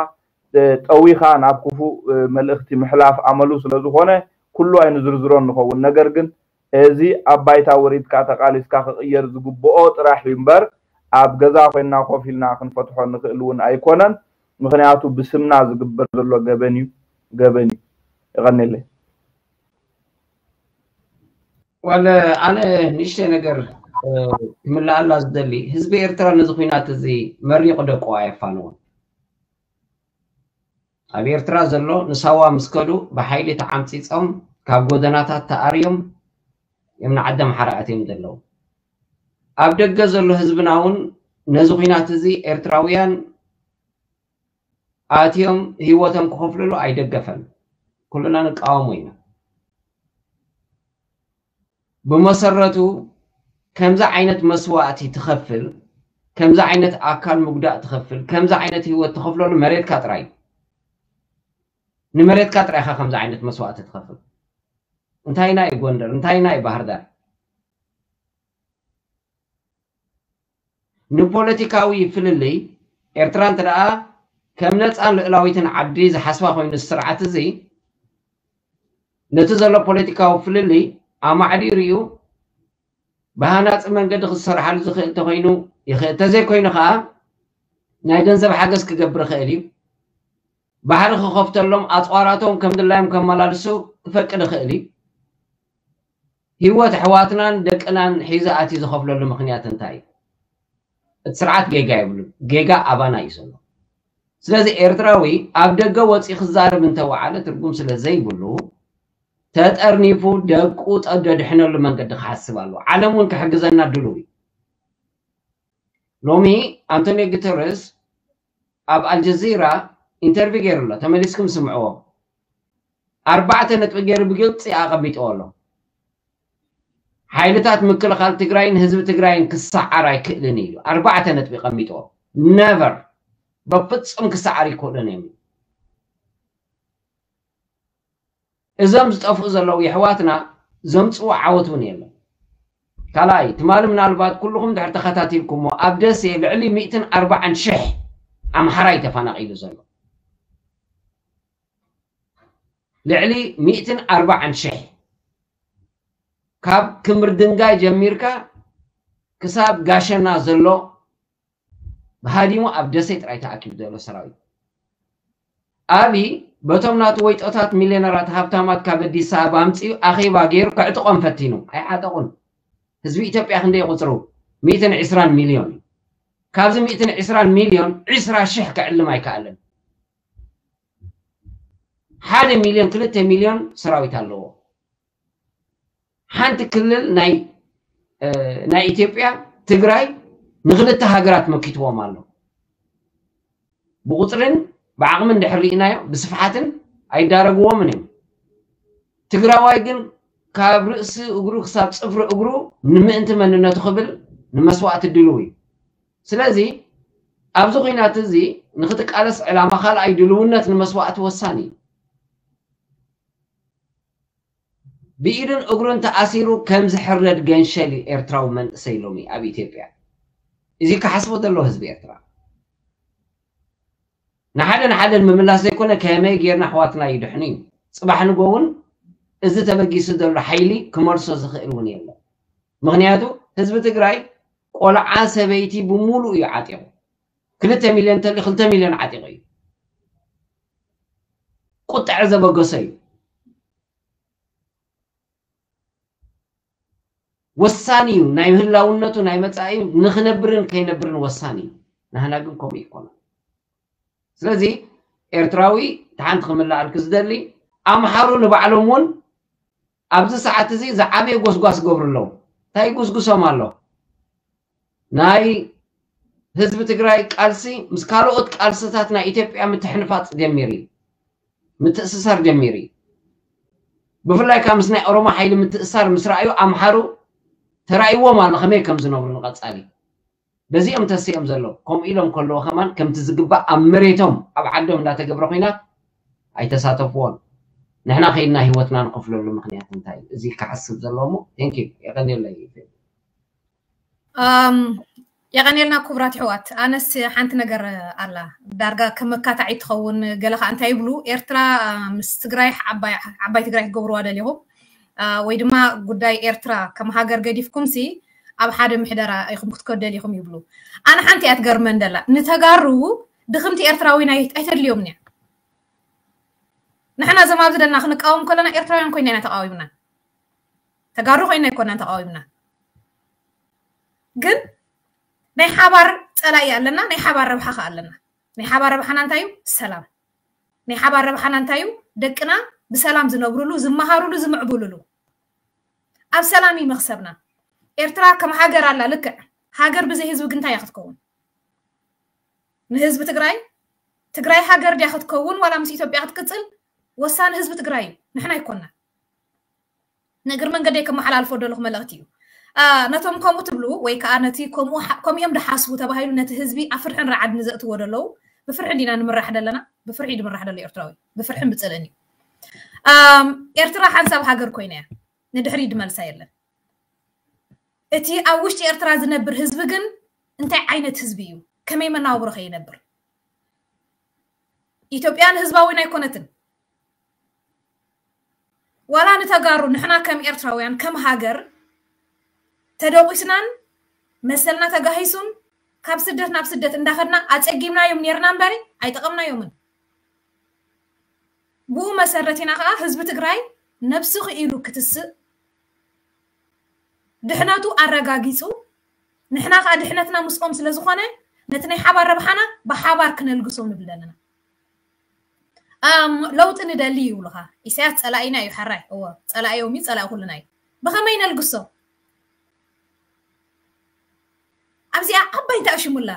ጠዊኻ ናብ ክፉእ መልእኽቲ ምሕላፍ ኣመሉ ስለ ዝኾነ ኩሉ ኣይንዝርዝሮን ንኸውን። ነገር ግን እዚ ኣብ ባይታ ወሪድካ ተቓሊስካ ክቕየር ዝግብኦ ጥራሕ እዩ እምበር ኣብ ገዛ ኮይንና ኮፍ ኢልና ክንፈትሖ ንኽእል እውን ኣይኮነን። ምኽንያቱ ብስምና ዝግበር ዘሎ ገበን እዩ፣ ገበን እዩ። የቐንየለይ። ዋለ ኣነ ንእሽተይ ነገር ክምልኣላ ዝደሊ ህዝቢ ኤርትራ ነዚ ኩናት እዚ መሪቑ ደቁ ኣየፋንዎን። ኣብ ኤርትራ ዘሎ ንሳዋ ምስ ከዱ ብሓይሊ ተዓምጺጾም ካብ ጎደናታት ተኣርዮም እዮም ንዓዲ ኣምሓራ ኣትዮም ዘለዉ። ኣብ ደገ ዘሎ ህዝብና እውን ነዚ ኩናት እዚ ኤርትራውያን ኣትዮም ህይወቶም ክኸፍልሉ ኣይደገፈን። ኩልና ንቃወሞ ኢና። ብመሰረቱ ከምዚ ዓይነት መስዋእቲ ትኸፍል፣ ከምዚ ዓይነት ኣካል ምጉዳእ ትኸፍል፣ ከምዚ ዓይነት ህይወት ትኸፍለሉ መሬትካ ጥራይ እዩ። ንመሬትካ ጥራይ ኢኻ ከምዚ ዓይነት መስዋእቲ ትኸፍል። እንታይና እዩ ጎንደር? እንታይና እዩ ባህር ዳር? ንፖለቲካዊ ፍልልይ ኤርትራ እንተ ደኣ ከም ነጻን ልእላዊትን ዓዲ ዝሓስባ ኮይኑ ስርዓት እዚ ነቲ ዘሎ ፖለቲካዊ ፍልልይ ኣማዕዲሩ እዩ ብሃናጺ መንገዲ ክሰርሓሉ ዝኽእል ተኮይኑ ይኽእል፣ ተዘይኮይኑ ከዓ ናይ ገንዘብ ሓገዝ ክገብር ይኽእል እዩ። ባሕሪ ክኸፍተሎም ኣፅዋራቶም ከም ድላዮም ከመላልሱ ክፈቅድ ይኽእል እዩ። ህይወት ኣሕዋትናን ደቅናን ሒዘ ኣትዩ ዝኸፍለሉ ምኽንያት እንታይ እዩ? እቲ ስርዓት ጌጋ የብሉን። ጌጋ ኣባና እዩ ዘሎ። ስለዚ ኤርትራዊ ኣብ ደገ ወፂኡ ክዛረብ እንተወዓለ ትርጉም ስለ ዘይብሉ ተጠርኒፉ ደቁ ደድሕነሉ መንገዲ ክሓስብ ኣለዎ። ዓለም እውን ክሕግዘና ድሉው እዩ። ሎሚ ኣንቶኒዮ ጉተረስ ኣብ ኣልጀዚራ ኢንተርቪው ገይሩ ኣሎ። ተመሊስኩም ስምዕዎ። ኣርባዕተ ነጥቢ ገይሩ ብግልፂ ኣቐሚጥዎ ኣሎ። ሓይልታት ምክልኻል ትግራይን ህዝቢ ትግራይን ክሰዓር ኣይክእልን እዩ። ኣርባዕተ ነጥቢ ቀሚጥዎ። ነቨር፣ በፍፁም ክሰዓር ኣይክእልን እዮም። እዞም ዝጠፍኡ ዘለዉ የሕዋትና ዘምፅዎ ዓወት እውን የለን። ካልኣይ፣ ትማሊ ምናልባት ኩልኹም ድሕር ተኸታቲልኩሞ፣ ኣብ ደሴ ልዕሊ ሚእትን ኣርባዓን ሽሕ ኣምሓራይ ተፈናቒሉ ዘሎ። ልዕሊ ሚእትን ኣርባዓን ሽሕ፣ ካብ ክምር ድንጋይ ጀሚርካ ክሳብ ጋሸና ዘሎ ብሃዲሙ ኣብ ደሴ ጥራይ ተኣኪቡ ዘሎ ሰራዊት። ኣብይ በቶም ናቱ ወይጦታት፣ ሚልዮነራት፣ ሃብታማት ካብ ኣዲስ ኣበባ ኣምፂኡ ኣኼባ ገይሩ ከዕጥቖም ፈቲኑ። ኣይዓጠቑን። ህዝቢ ኢትዮጵያ ክንደይ ቁፅሩ? ሚእትን ዕስራን ሚልዮን እዩ። ካብዚ ሚእትን ዕስራን ሚልዮን ዕስራ ሽሕ ከዕልም ኣይከኣለን። ሓደ ሚልዮን፣ ክልተ ሚልዮን ሰራዊት ኣለዎ። ሓንቲ ክልል ናይ ናይ ኢትዮጵያ ትግራይ ንክልተ ሃገራት መኪትዎም ኣሎ። ብቁፅርን ብዓቕምን እንድሕር ርኢናዮ ብስፍሓትን ኣይዳረግዎምን እዮም። ትግራዋይ ግን ካብ ርእሲ እግሩ ክሳብ ፅፍሪ እግሩ ንምእንቲ መንነቱ ክብል ንመስዋእቲ ድልው እዩ። ስለዚ ኣብዚ ኩናት እዚ ንክትቃለስ ዕላማ ካልኣይ ድልውነት ንመስዋእቲ ወሳኒ እዩ። ብኢዱን እግሩን ተኣሲሩ ከም ዝሕረድ ገንሸል እዩ ኤርትራዊ መንእሰይ ሎሚ ኣብ ኢትዮጵያ። እዚ ክሓስቦ ዘለዎ ህዝቢ ኤርትራ። ንሓደ ንሓደ ንምምላስ ዘይኮነ ከመይ ጌርና ኣሕዋትና ይድሕኑ እዩ። ፅባሕ ንጎ እውን እዚ ተበጊሱ ዘሎ ሓይሊ ክመልሶ ዝኽእል እውን የለን። ምኽንያቱ ህዝቢ ትግራይ ቆልዓ ሰበይቲ ብምሉእ እዩ ዓጢቑ። ክልተ ሚልዮን እንተልዩ ክልተ ሚልዮን ዓጢቑ እዩ። ቁጥዐ ዘበገሶ እዩ። ወሳኒ እዩ። ናይ ምህላውነቱ ናይ መጻኢ ንኽነብርን ከይነብርን ወሳኒ እዩ። ናህና ግን ከምኡ ይኮነ። ስለዚ ኤርትራዊ ሓንቲ ክምልኣልክ ዝደሊ ኣምሓሩ ንባዕሎም እውን ኣብዚ ሰዓት እዚ ዝዓበየ ጎስጓስ ገብሩ ኣለዉ። እንታይ ይጉስጉሶም ኣሎ? ናይ ህዝቢ ትግራይ ቃልሲ ምስ ካልኦት ቃልስታት ናይ ኢትዮጵያ ምትሕንፋፅ ጀሚሩ እዩ። ምትእስሳር ጀሚሩ እዩ። ብፍላይ ካብ ምስ ናይ ኦሮሞ ሓይሊ ምትእሳር ምስ ረኣዩ ኣምሓሩ ተራእይዎም ኣሎ ከመይ ከም ዝነብሩ ንቐፃሊ። በዚኦም ተሲኦም ዘለዉ ከምኡ ኢሎም ከለዉ ከማን ከምቲ ዝግባእ ኣብ መሬቶም ኣብ ዓዶም እንዳተገብረ ኩናት ኣይተሳተፍዎን። ንሕና ከይድና ህይወትና ንኸፍለሉ ምክንያት እንታይ እዩ? እዚ ክሓስብ ዘለዎ እሞ። Thank you። የቐንየለይ። ኣም፣ የቐንየልና ክቡራት ኣሕዋት። ኣነስ ሓንቲ ነገር ኣላ ዳርጋ ከም መካታዒ ትኸውን። ገለ ከዓ እንታይ ይብሉ፣ ኤርትራ ምስ ትግራይ ዓባይ ዓባይ ትግራይ ክገብርዋ ደሊኹም፣ ኣ፣ ወይ ድማ ጉዳይ ኤርትራ ከም ሃገር ገዲፍኩም ሲ ኣብ ሓደ ምሕደራ ኢኹም ክትከዱ ደሊኹም ይብሉ። ኣነ ሓንቲ እያ ትገርመን ደላ፣ ንተጋሩ ድኽምቲ ኤርትራዊ ናይ ኣይተድልዮም እያ። ንሕና እዞም ኣብዚ ደልና ክንቃወም ከለና ኤርትራውያን ኮይና ኢና ተቃዊምና። ተጋሩ ኮይና ኣይኮናን ተቃዊምና። ግን ናይ ሓባር ጸላኢ ኣለና፣ ናይ ሓባር ረብሓ ከ ኣለና። ናይ ሓባር ረብሓና እንታይ እዩ? ሰላም። ናይ ሓባር ረብሓና እንታይ እዩ? ደቅና ብሰላም ዝነብሩሉ፣ ዝመሃሩሉ፣ ዝምዕብሉሉ። ኣብ ሰላም እዩ መኽሰብና። ኤርትራ ከም ሃገር ኣላ፣ ልክዕ። ሃገር ብዘይ ህዝቢ ግን እንታይ እያ ክትከውን? ንህዝቢ ትግራይ፣ ትግራይ ሃገር ድያ ክትከውን ዋላ ምስ ኢትዮጵያ ክትቅጽል? ወሳኒ ህዝቢ ትግራይ እዩ፣ ንሕና ኣይኮና። ንእግር መንገደይ ከመሓላልፎ ደለኹ መልእኽቲ እዩ። ኣ፣ ነቶም ከምኡ ትብሉ ወይ ከዓ ነቲ ከምኡ ሓ-፣ ከምኡ እዮም ድሓስቡ ተባሂሉ ነቲ ህዝቢ ኣብ ፍርሕን ራዕድን ዘእትዎ ደለዉ፣ ብፍርሒ እንዲና ንምራሕ ደለና፣ ብፍርሒ ድምራሕ ደሎ ኤርትራዊ፣ ብፍርሕን ብጽልእን እዩ። ኣም፣ ኤርትራ ሓንሳብ ሃገር ኮይና እያ፣ ንድሕሪ ድመልሳ የለን። እቲ ኣብ ውሽጢ ኤርትራ ዝነብር ህዝቢ ግን እንታይ ዓይነት ህዝቢ እዩ? ከመይ መናውብሮ ከ ይነብር? ኢትዮጵያ ንህዝባዊን ኣይኮነትን። ዋላ ንተጋሩ ንሕና ከም ኤርትራውያን ከም ሃገር ተደቂስናን መሰልና ተጋሂሱን ካብ ስደት ናብ ስደት እንዳኸድና ኣጸጊምናዮም ኔርና እምበሪ ኣይጠቐምናዮምን። ብኡ መሰረት ኢና ከዓ ህዝቢ ትግራይ ነብሱ ክኢሉ ክትስእ ድሕነቱ ኣረጋጊጹ ንሕና ከዓ ድሕነትና ምስኦም ስለ ዝኾነ ነቲ ናይ ሓባር ረብሓና ብሓባር ክነልግሶ ንብል ዘለና። ኣም፣ ለውጢ ንደሊ ይብሉኻ። ኢሳያስ ጸላኢና እዩ፣ ሕራይ። እወ፣ ጸላኢዮም እዩ፣ ጸላኢ ኩልና እዩ። ብኸመይ ነልግሶ? ኣብዚኣ ዓባይ እንታይ ኣሽሙላ?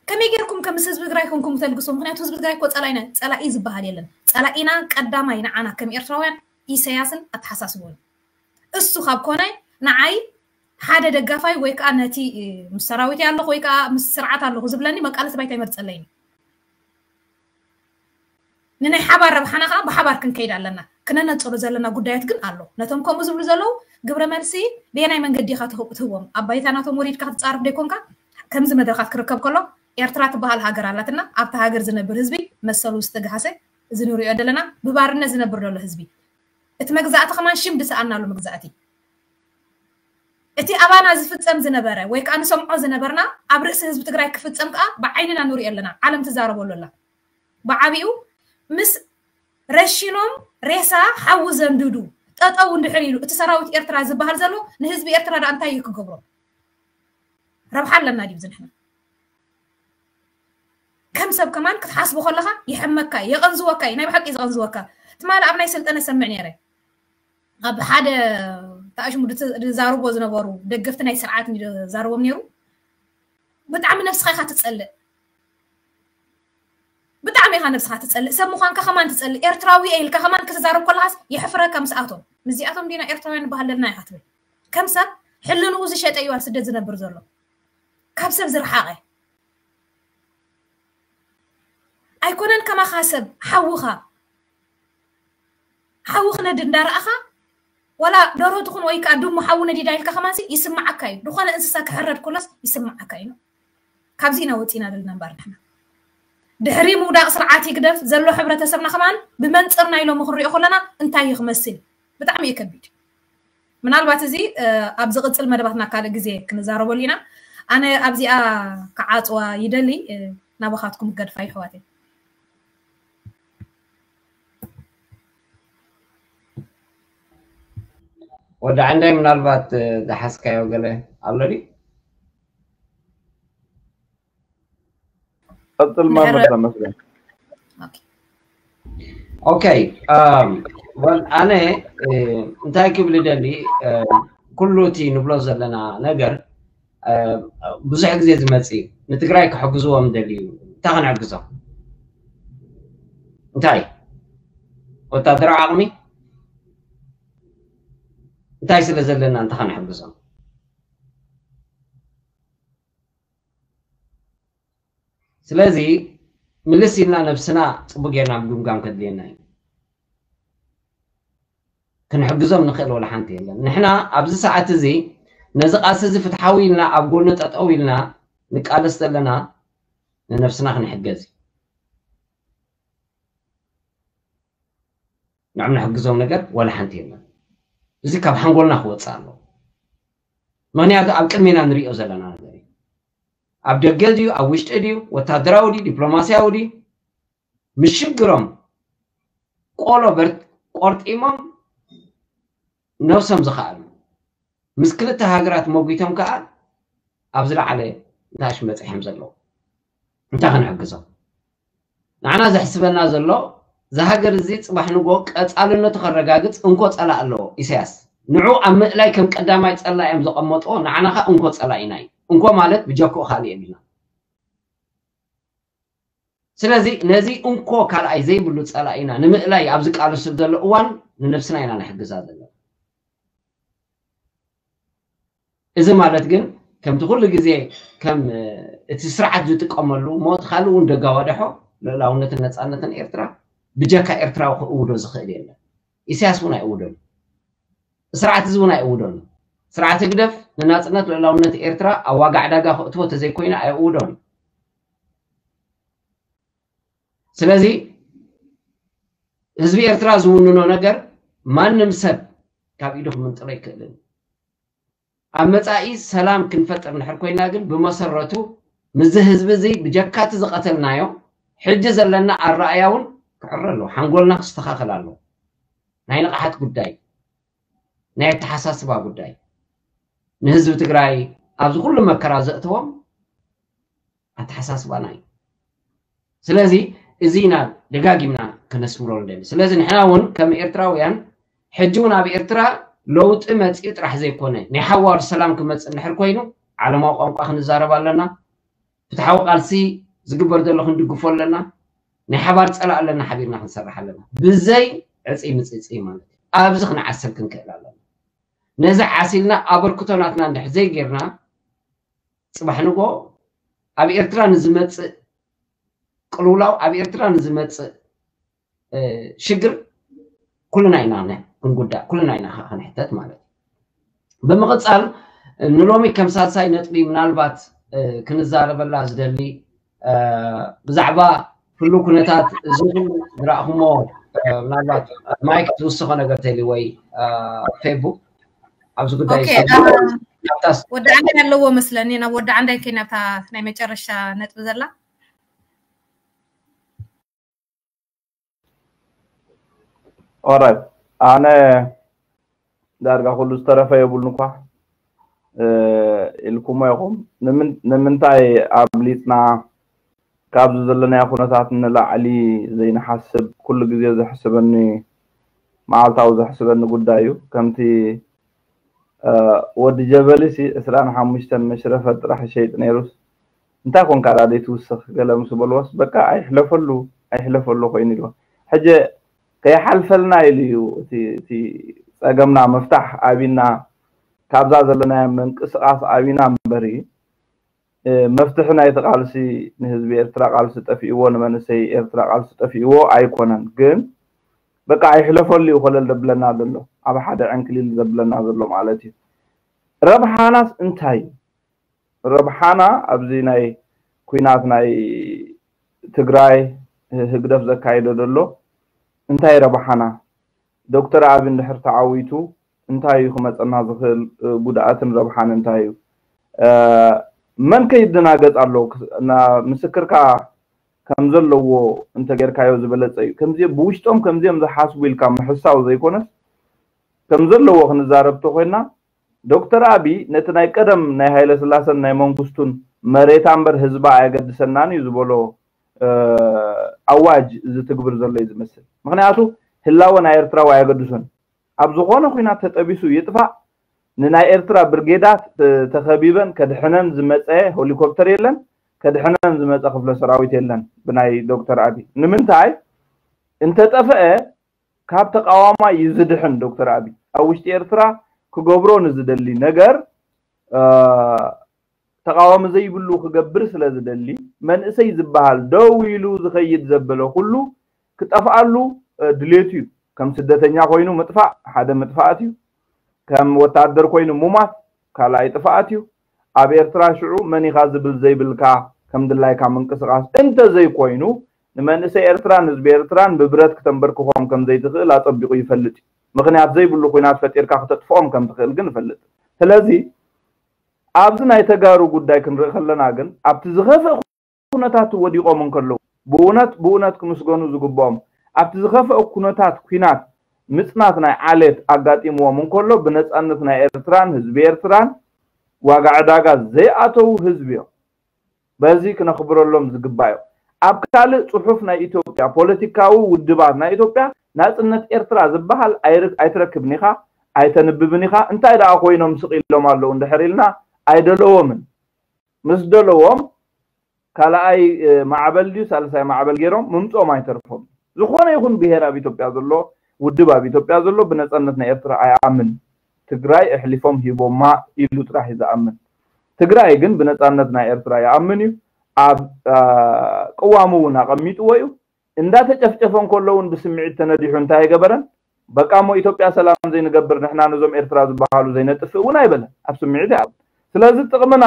ከመይ ጌርኩም ከም ምስ ህዝቢ ትግራይ ኮንኩም ተልግሱ? ምክንያቱ ህዝቢ ትግራይ እኮ ፀላኢና ፀላኢ ዝበሃል የለን። ፀላኢና ቀዳማይ ንዓና ከም ኤርትራውያን ኢሳያስን ኣተሓሳስቦን። እሱ ካብ ኮነ ንዓይ ሓደ ደጋፋይ ወይ ከዓ ነቲ ምስ ሰራዊት ኣለኹ ወይ ከዓ ምስ ስርዓት ኣለኹ ዝብለኒ መቃለሲ ባይታ ይመርፀለይ። ንናይ ሓባር ረብሓና ከዓ ብሓባር ክንከይድ ኣለና። ክነነፅሮ ዘለና ጉዳያት ግን ኣሎ። ነቶም ከምኡ ዝብሉ ዘለዉ ግብረ መልሲ ብየናይ መንገዲ ኢኻ ትህቦም? ኣብ ባይታ ናቶም ወሪድካ ክትፃረፍ ደይኮንካ ከምዚ መድረኻት ክርከብ ከሎ ኤርትራ ትበሃል ሃገር ኣላትና። ኣብታ ሃገር ዝነብር ህዝቢ መሰሉ ዝተግሃሰ፣ እዚ ንሪኦ ዘለና ብባርነት ዝነብር ዘሎ ህዝቢ፣ እቲ መግዛእቲ ከማን ሽም ዝሰኣናሉ መግዛእቲ፣ እቲ ኣባና ዝፍፀም ዝነበረ ወይ ከዓ ንሰምዖ ዝነበርና ኣብ ርእሲ ህዝቢ ትግራይ ክፍፀም ከዓ ብዓይንና ንሪኦ ኣለና። ዓለም ትዛረበሉ ኣላ። ብዓቢኡ ምስ ረሺኖም ሬሳ ሓዊ ዘንድዱ ጠጠው እንድሕር ኢሉ እቲ ሰራዊት ኤርትራ ዝበሃል ዘሎ ንህዝቢ ኤርትራ ዳ እንታይ እዩ ክገብሮ? ረብሓ ኣለና ድዩ ንሕና? ከም ሰብ ከማን ክትሓስቦ ከለኻ ይሕመካ እዩ፣ የቐንዝወካ እዩ፣ ናይ ብሓቂ እዩ ዘቐንዝወካ። ትማሊ ኣብ ናይ ሰልጠነ ሰምዕ ነይረ። ኣብ ሓደ ተኣሽሙ ዝዛርቦ ዝነበሩ ደገፍቲ ናይ ስርዓት ዝዛርቦም ነይሩ። ብጣዕሚ ነብስኻ ኢኻ ትጸልእ፣ ብጣዕሚ ኢኻ ነብስኻ ትጸልእ፣ ሰብ ምዃንካ ከማን ትጸልእ፣ ኤርትራዊ እየ ኢልካ ከማን ክትዛረብ ከለኻስ የሕፍረካ። ምስኣቶም ምስዚኣቶም ዲና ኤርትራውያን ንበሃል ዘለና ኢኻ ትብል። ከም ሰብ ሕልንኡ ዝሸጠ እዩ ኣብ ስደት ዝነብር ዘሎ፣ ካብ ሰብ ዝረሓቐ። ኣይኮነን ከማኻ ሰብ ሓውኻ ሓዊ ክነድ እንዳረኣኻ ዋላ ደሮ ትኹን ወይ ከዓ ድሙ ሓዊ ነዲዳ ኢልካ ከማንሲ ይስምዓካ እዩ። ዝኾነ እንስሳ ክሕረድ ከሎስ ይስምዓካ እዩ። ካብዚ ኢና ወፂና ዘለና እምበር ንሕና ድሕሪ ምውዳቕ ስርዓት ህግደፍ ዘሎ ሕብረተሰብና ከማን ብመንፅር ናይ ሎሚ ክንሪኦ ከለና እንታይ እዩ ክመስል? ብጣዕሚ እዩ ከቢድ። ምናልባት እዚ ኣብ ዝቕፅል መደባትና ካልእ ግዜ ክንዛረበሉ ኢና። ኣነ ኣብዚኣ ክዓፅዋ ይደሊ። ናባኻትኩም ክገድፋ ይሕዋተይ። ወዲ ዓንዳይ ምናልባት ዝሓዝካዮ ገለ ኣሎ ድዩ? ቀፅል ማመር ተመስገን። ኦኬ፣ ኣነ እንታይ ክብል ደሊ፣ ኩሉ እቲ ንብሎ ዘለና ነገር ብዙሕ ግዜ ዝመፅ እዩ። ንትግራይ ክሕግዝዎም ደልዩ እንታይ ክንሕግዞም? እንታይ ወታደራዊ ዓቕሚ እንታይ ስለ ዘለና እንታይ ክንሕግዞም? ስለዚ ምልስ ኢልና ነብስና ፅቡቅ ጌርና ምግምጋም ከድልየና እዩ። ክንሕግዞም ንኽእል ወላ ሓንቲ የለን። ንሕና ኣብዚ ሰዓት እዚ ነዚ ቃልሲ እዚ ፍትሓዊ ኢልና ኣብ ጎኑ ጠጠው ኢልና ንቃለስ ዘለና ንነብስና ክንሕገዝ እዩ። ንዕም ንሕግዞም ነገር ወላ ሓንቲ የለን። እዚ ካብ ሓንጎልና ክወፅእ ኣለዎ። ምክንያቱ ኣብ ቅድሜና ንሪኦ ዘለና ነገር እዩ። ኣብ ደገ ድዩ ኣብ ውሽጢ ድዩ ወታደራዊ ድዩ ዲፕሎማስያዊ ድዩ ምሽግሮም ቆሎ ቆርጢሞም ነብሶም ዝኸኣሉ ምስ ክልተ ሃገራት መጒቶም ከዓ ኣብ ዝለዓለ ንታሽ መፅሖም ዘለዉ እንታይ ክንሕግዞም? ንዓና ዘሕስበና ዘሎ እዚ ሃገር እዚ ፅባሕ ንጎ ቀፃልነቱ ከረጋግፅ እንኮ ፀላእ ኣለዎ ኢሳያስ። ንዑ ኣብ ምእላይ ከም ቀዳማይ ፀላኢ እዮም ዘቐመጥዎ፣ ንዓና ከዓ እንኮ ፀላኢና እዩ። እንኮ ማለት ብጀክኡ ካልእ የብልና። ስለዚ ነዚ እንኮ ካልኣይ ዘይብሉ ፀላኢና ንምእላይ ኣብ ዝቃለሱ ዘሎ እዋን ንነብስና ኢና ንሕግዛ ዘለና። እዚ ማለት ግን ከምቲ ኩሉ ግዜ ከም እቲ ስርዓት ዝጥቀመሉ ሞት ካልእ እውን ደጋዋደሖ ልእላውነትን ነፃነትን ኤርትራ ብጀካ ኤርትራዊ ክእውዶ ዝኽእል የለን። ኢሳያስ እውን ኣይእውደሉ። ስርዓት እዚ እውን ኣይእውደሉ። ስርዓት ህግደፍ ንናፅነት ልእላውነት ኤርትራ ኣብ ዋጋ ዕዳጋ ክእትዎ ተዘይኮይኑ ኣይእውዶን። ስለዚ ህዝቢ ኤርትራ ዝውንኖ ነገር ማንም ሰብ ካብ ኢዱ ክምንጥሎ ኣይክእልን። ኣብ መጻኢ ሰላም ክንፈጥር እንድሕር ኮይና ግን ብመሰረቱ ምስዚ ህዝቢ እዚ ብጀካቲ ዝቐተልናዮ ሕጂ ዘለና ኣረኣያ እውን ክዕረ ኣለዎ። ሓንጎልና ክስተኻኸል ኣለዎ። ናይ ንቕሓት ጉዳይ፣ ናይ ኣተሓሳስባ ጉዳይ፣ ንህዝቢ ትግራይ ኣብዚ ኩሉ መከራ ዘእተዎም ኣተሓሳስባና እዩ። ስለዚ እዚ ኢና ደጋጊምና ከነስምሮ ንደሊ። ስለዚ ንሕና እውን ከም ኤርትራውያን ሕጂ እውን ኣብ ኤርትራ ለውጢ መፂኡ ጥራሕ ዘይኮነ ናይ ሓዋር ሰላም ክመፅእ እንድሕር ኮይኑ ዓለማዊ ቋንቋ ክንዛረብ ኣለና። ፍትሓዊ ቃልሲ ዝግበር ዘሎ ክንድግፎ ኣለና። ናይ ሓባር ጸላእ ኣለና፣ ሓቢርና ክንሰርሕ ኣለና። ብዘይ ዕጽይ ምጽጽይ ማለት እዩ። ኣብዚ ክንዓስል ክንክእል ኣለና። ነዚ ዓሲልና ኣበርክቶ ናትና እንድሕር ዘይጌርና፣ ጽባሕ ንጎ ኣብ ኤርትራ ንዝመጽእ ቅልውላው፣ ኣብ ኤርትራ ንዝመጽእ ሽግር ኩልና ኢና ክንጉዳእ፣ ኩልና ኢና ክንሕተት ማለት እዩ። ብምቕጻል ንሎሚ ከም ሳልሳይ ነጥቢ ምናልባት ክንዛረበላ ዝደሊ ብዛዕባ ህሉ ኩነታት እዚ ዝረእኹሞ፣ ምናልባት ማይክ ትውስኾ ነገር ተሊ ወይ ፌቡ ኣብዚ ጉዳይ ወዲ ዓንዳይ ኣለዎ መስለኒ። ናብ ወዲ ዓንዳይ ከይና ኣብታ ናይ መጨረሻ ነጥቢ ዘላ ኦራይት፣ ኣነ ዳርጋ ኩሉ ዝተረፈ የብሉን እኳ ኢልኩሞ ኢኹም። ንምንታይ ኣብሊፅና ካብዚ ዘለናዮ ኩነታት ንላዕሊ ዘይንሓስብ? ኩሉ ግዜ ዘሕስበኒ፣ መዓልታዊ ዘሕስበኒ ጉዳይ እዩ። ከምቲ ወዲ ጀበሊ ሲ ዕስራን ሓሙሽተን መሽረፈት ጥራሕ ይሸይጥ ነይሩስ፣ እንታይ ኮንካ ዳ ዘይትውስኽ ገለ ምስ በልዎስ፣ በቃ ኣይሕለፈሉ ኣይሕለፈሉ ኮይኑ ኢልዎ። ሕጂ ከይሓልፈልና ኢሉ እዩ እቲ ጸገምና ምፍታሕ ኣቢና ካብዛ ዘለናዮ ምንቅስቃስ ኣቢና እምበሪ፣ መፍትሒ ናይቲ ቃልሲ ንህዝቢ ኤርትራ ቃልሲ ጠፊእዎ፣ ንመንእሰይ ኤርትራ ቃልሲ ጠፊእዎ ኣይኮነን። ግን በቃ ኣይሕለፈሉ እዩ ኮለል ዘብለና ዘሎ፣ ኣብ ሓደ ዕንክሊል ዘብለና ዘሎ ማለት እዩ። ረብሓናስ እንታይ እዩ? ረብሓና ኣብዚ ናይ ኩናት ናይ ትግራይ ህግደፍ ዘካይዶ ዘሎ እንታይ ረብሓና? ዶክተር ኣቢ እንድሕር ተዓዊቱ እንታይ እዩ ክመፀና ዝኽእል ጉድኣትን ረብሓን እንታይ እዩ? መን ከይደናገፅ ኣለዎ? ምስክርካ ከም ዘለዎ እንተጌርካዮ ዝበለፀ እዩ። ከምዚ ብውሽጦም ከምዚኦም ዝሓስቡ ኢልካ ምሕሳው ዘይኮነስ ከም ዘለዎ ክንዛረብ ተኮይና ዶክተር ኣቢ ነቲ ናይ ቀደም ናይ ሃይለ ስላሰን ናይ መንግስቱን መሬታ እምበር ህዝባ ኣየገድሰናን እዩ ዝበሎ ኣዋጅ ዝትግብር ዘሎ እዩ ዝመስል። ምክንያቱ ህላወ ናይ ኤርትራዊ ኣየገድሶን። ኣብ ዝኾነ ኩናት ተጠቢሱ ይጥፋእ፣ ንናይ ኤርትራ ብርጌዳት ተኸቢበን ከድሕነን ዝመፀ ሄሊኮፕተር የለን፣ ከድሕነን ዝመፀ ክፍለ ሰራዊት የለን ብናይ ዶክተር ኣቢ። ንምንታይ እንተጠፍአ ካብ ተቃዋማይ እዩ ዝድሕን ዶክተር ኣቢ። ኣብ ውሽጢ ኤርትራ ክገብሮ ንዝደሊ ነገር ተቃዋሚ ዘይብሉ ክገብር ስለ ዝደሊ መንእሰይ ዝበሃል ደው ኢሉ ዝኸይድ ዘበለ ኩሉ ክጠፍኣሉ ድሌቱ እዩ። ከም ስደተኛ ኮይኑ ምጥፋእ ሓደ ምጥፋኣት እዩ። ከም ወታደር ኮይኑ ሙማት ካልኣይ ጥፍኣት እዩ። ኣብ ኤርትራ ሽዑ መን ኢኻ ዝብል ዘይብልካ ከም ድላይካ ምንቅስቃስ እንተዘይኮይኑ ንመንእሰይ ኤርትራን ህዝቢ ኤርትራን ብብረት ክተንበርክኾም ከም ዘይትኽእል ኣጸቢቑ ይፈልጥ እዩ። ምኽንያት ዘይብሉ ኩናት ፈጢርካ ክተጥፍኦም ከም ትኽእል ግን ይፈልጥ። ስለዚ ኣብዚ ናይ ተጋሩ ጉዳይ ክንርኢ ከለና ግን ኣብቲ ዝኸፍእ ኩነታት ወዲቖም እንከለዉ ብእውነት ብእውነት ክምስገኑ ዝግብኦም ኣብቲ ዝኸፍአ ኩነታት ኩናት ምጽናት ናይ ዓሌት ኣጋጢምዎም እንከሎ ብነጻነት ናይ ኤርትራን ህዝቢ ኤርትራን ዋጋ ዕዳጋ ዘይኣተዉ ህዝቢ እዮም። በዚ ክነኽብረሎም ዝግባእ እዩ። ኣብ ካልእ ጽሑፍ ናይ ኢትዮጵያ ፖለቲካዊ ውድባት ናይ ኢትዮጵያ ናጽነት ኤርትራ ዝበሃል ኣይትረክብን ኢኻ፣ ኣይተንብብን ኢኻ። እንታይ ደኣ ኮይኖም ስቕ ኢሎም ኣለዉ እንድሕር ኢልና ኣይደለዎምን። ምስ ደለዎም ካልኣይ ማዕበል ድዩ ሳልሳይ ማዕበል ገይሮም ምምፅኦም ኣይተርፎም። ዝኾነ ይኹን ብሄር ኣብ ኢትዮጵያ ዘሎ ውድብ ኣብ ኢትዮጵያ ዘሎ ብነፃነት ናይ ኤርትራ ኣይኣምን። ትግራይ ኣሕሊፎም ሂቦማ ኢሉ ጥራሕ እዩ ዝኣምን። ትግራይ ግን ብነፃነት ናይ ኤርትራ ይኣምን እዩ። ኣብ ቅዋሙ እውን ኣቐሚጥዎ እዩ። እንዳተጨፍጨፈ እንከሎ እውን ብስምዒት ተነዲሑ እንታይ ኣይገበረን? በቃ እሞ ኢትዮጵያ ሰላም ዘይንገብር ንሕና ነዞም ኤርትራ ዝበሃሉ ዘይነጥፍእ እውን ኣይበለን። ኣብ ስምዒት ይኣምን። ስለዚ ጥቕምና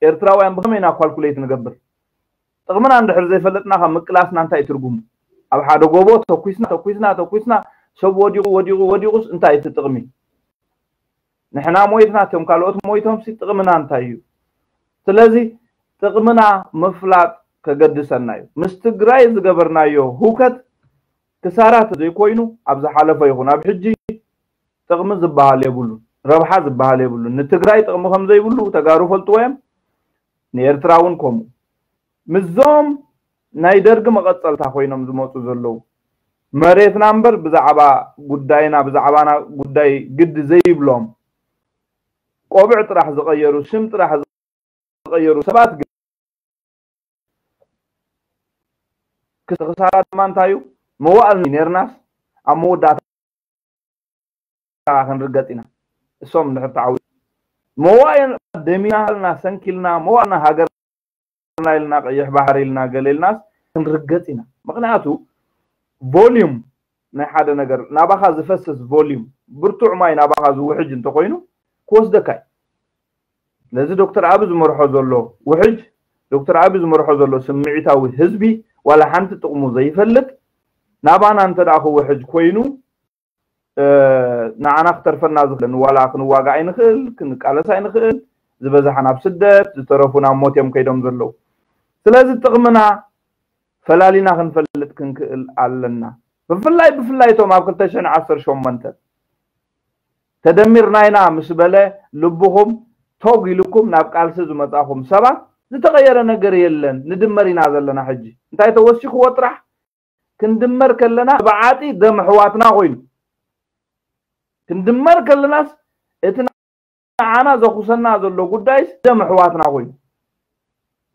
ኤርትራውያን ብኸመይ ኢና ኳልኩሌት ንገብር? ጥቕምና እንድሕር ዘይፈለጥና ካብ ምቅላስና እንታይ ትርጉሙ? ኣብ ሓደ ጎቦ ተኩስና ተኩስና ተኩስና ሰብ ወዲቑ ወዲቑ ወዲቑስ እንታይ እቲ ጥቕሚ? ንሕና ሞይትና እቶም ካልኦት ሞይቶም ሲ ጥቕምና እንታይ እዩ? ስለዚ ጥቕምና ምፍላጥ ከገድሰና እዩ። ምስ ትግራይ ዝገበርናዮ ህውከት ክሳራ ዘይኮይኑ ኣብ ዝሓለፈ ይኹን ኣብ ሕጂ ጥቕሚ ዝበሃል የብሉን፣ ረብሓ ዝበሃል የብሉን። ንትግራይ ጥቕሚ ከም ዘይብሉ ተጋሩ ፈልጥዎ እዮም፣ ንኤርትራ እውን ከምኡ። ምስዞም ናይ ደርጊ መቐፀልታ ኮይኖም ዝመፁ ዘለዉ መሬትና እምበር ብዛዕባ ጉዳይና ብዛዕባና ጉዳይ ግዲ ዘይብሎም ቆብዕ ጥራሕ ዝቐየሩ ስም ጥራሕ ዝቐየሩ ሰባት ግን ክሳራ ድማ እንታይ እዩ? መዋእል ነርናስ ኣብ መወዳእታ ክንርገጽ ኢና። እሶም እንድሕር ተዓዊ መዋእል ደሚና ኢልና ሰንኪልና መዋእልና ሃገርና ኢልና ቀይሕ ባሕሪ ኢልና ገለ ኢልናስ ክንርገጽ ኢና። ምክንያቱ volume ናይ ሓደ ነገር ናባኻ ዝፈስስ volume ብርቱዕ ማይ ናባኻ ዝውሕጅ እንተኮይኑ ክወስደካ እዩ። ነዚ ዶክተር ኣቢ ዝመርሖ ዘሎ ውሕጅ ዶክተር ኣቢ ዝመርሖ ዘሎ ስምዒታዊ ህዝቢ ዋላ ሓንቲ ጥቕሙ ዘይፈልጥ ናባና እንተ ደኣ ክውሕጅ ኮይኑ ንዓና ክተርፈና ዝኽእል ዋላ ክንዋጋ ኣይንኽእል ክንቃለስ ኣይንኽእል ዝበዝሓ ናብ ስደት ዝተረፉ ናብ ሞት እዮም ከይዶም ዘለዉ ስለዚ ጥቕምና ፈላሊና ክንፈልጥ ክንክእል ኣለና ብፍላይ ብፍላይ እቶም ኣብ ክልተ ሽሕን ዓሰርተ ሸሞንተ ተደሚርና ኢና ምስ በለ ልብኹም ቶግ ኢልኩም ናብ ቃልሲ ዝመጻኹም ሰባት ዝተቐየረ ነገር የለን ንድመር ኢና ዘለና ሕጂ እንታይ ተወሲኽዎ ጥራሕ ክንድመር ከለና ብዓጢ ደም ኣሕዋትና ኮይኑ ክንድመር ከለናስ እቲ ንዓና ዘኹሰና ዘሎ ጉዳይስ ደም ኣሕዋትና ኮይኑ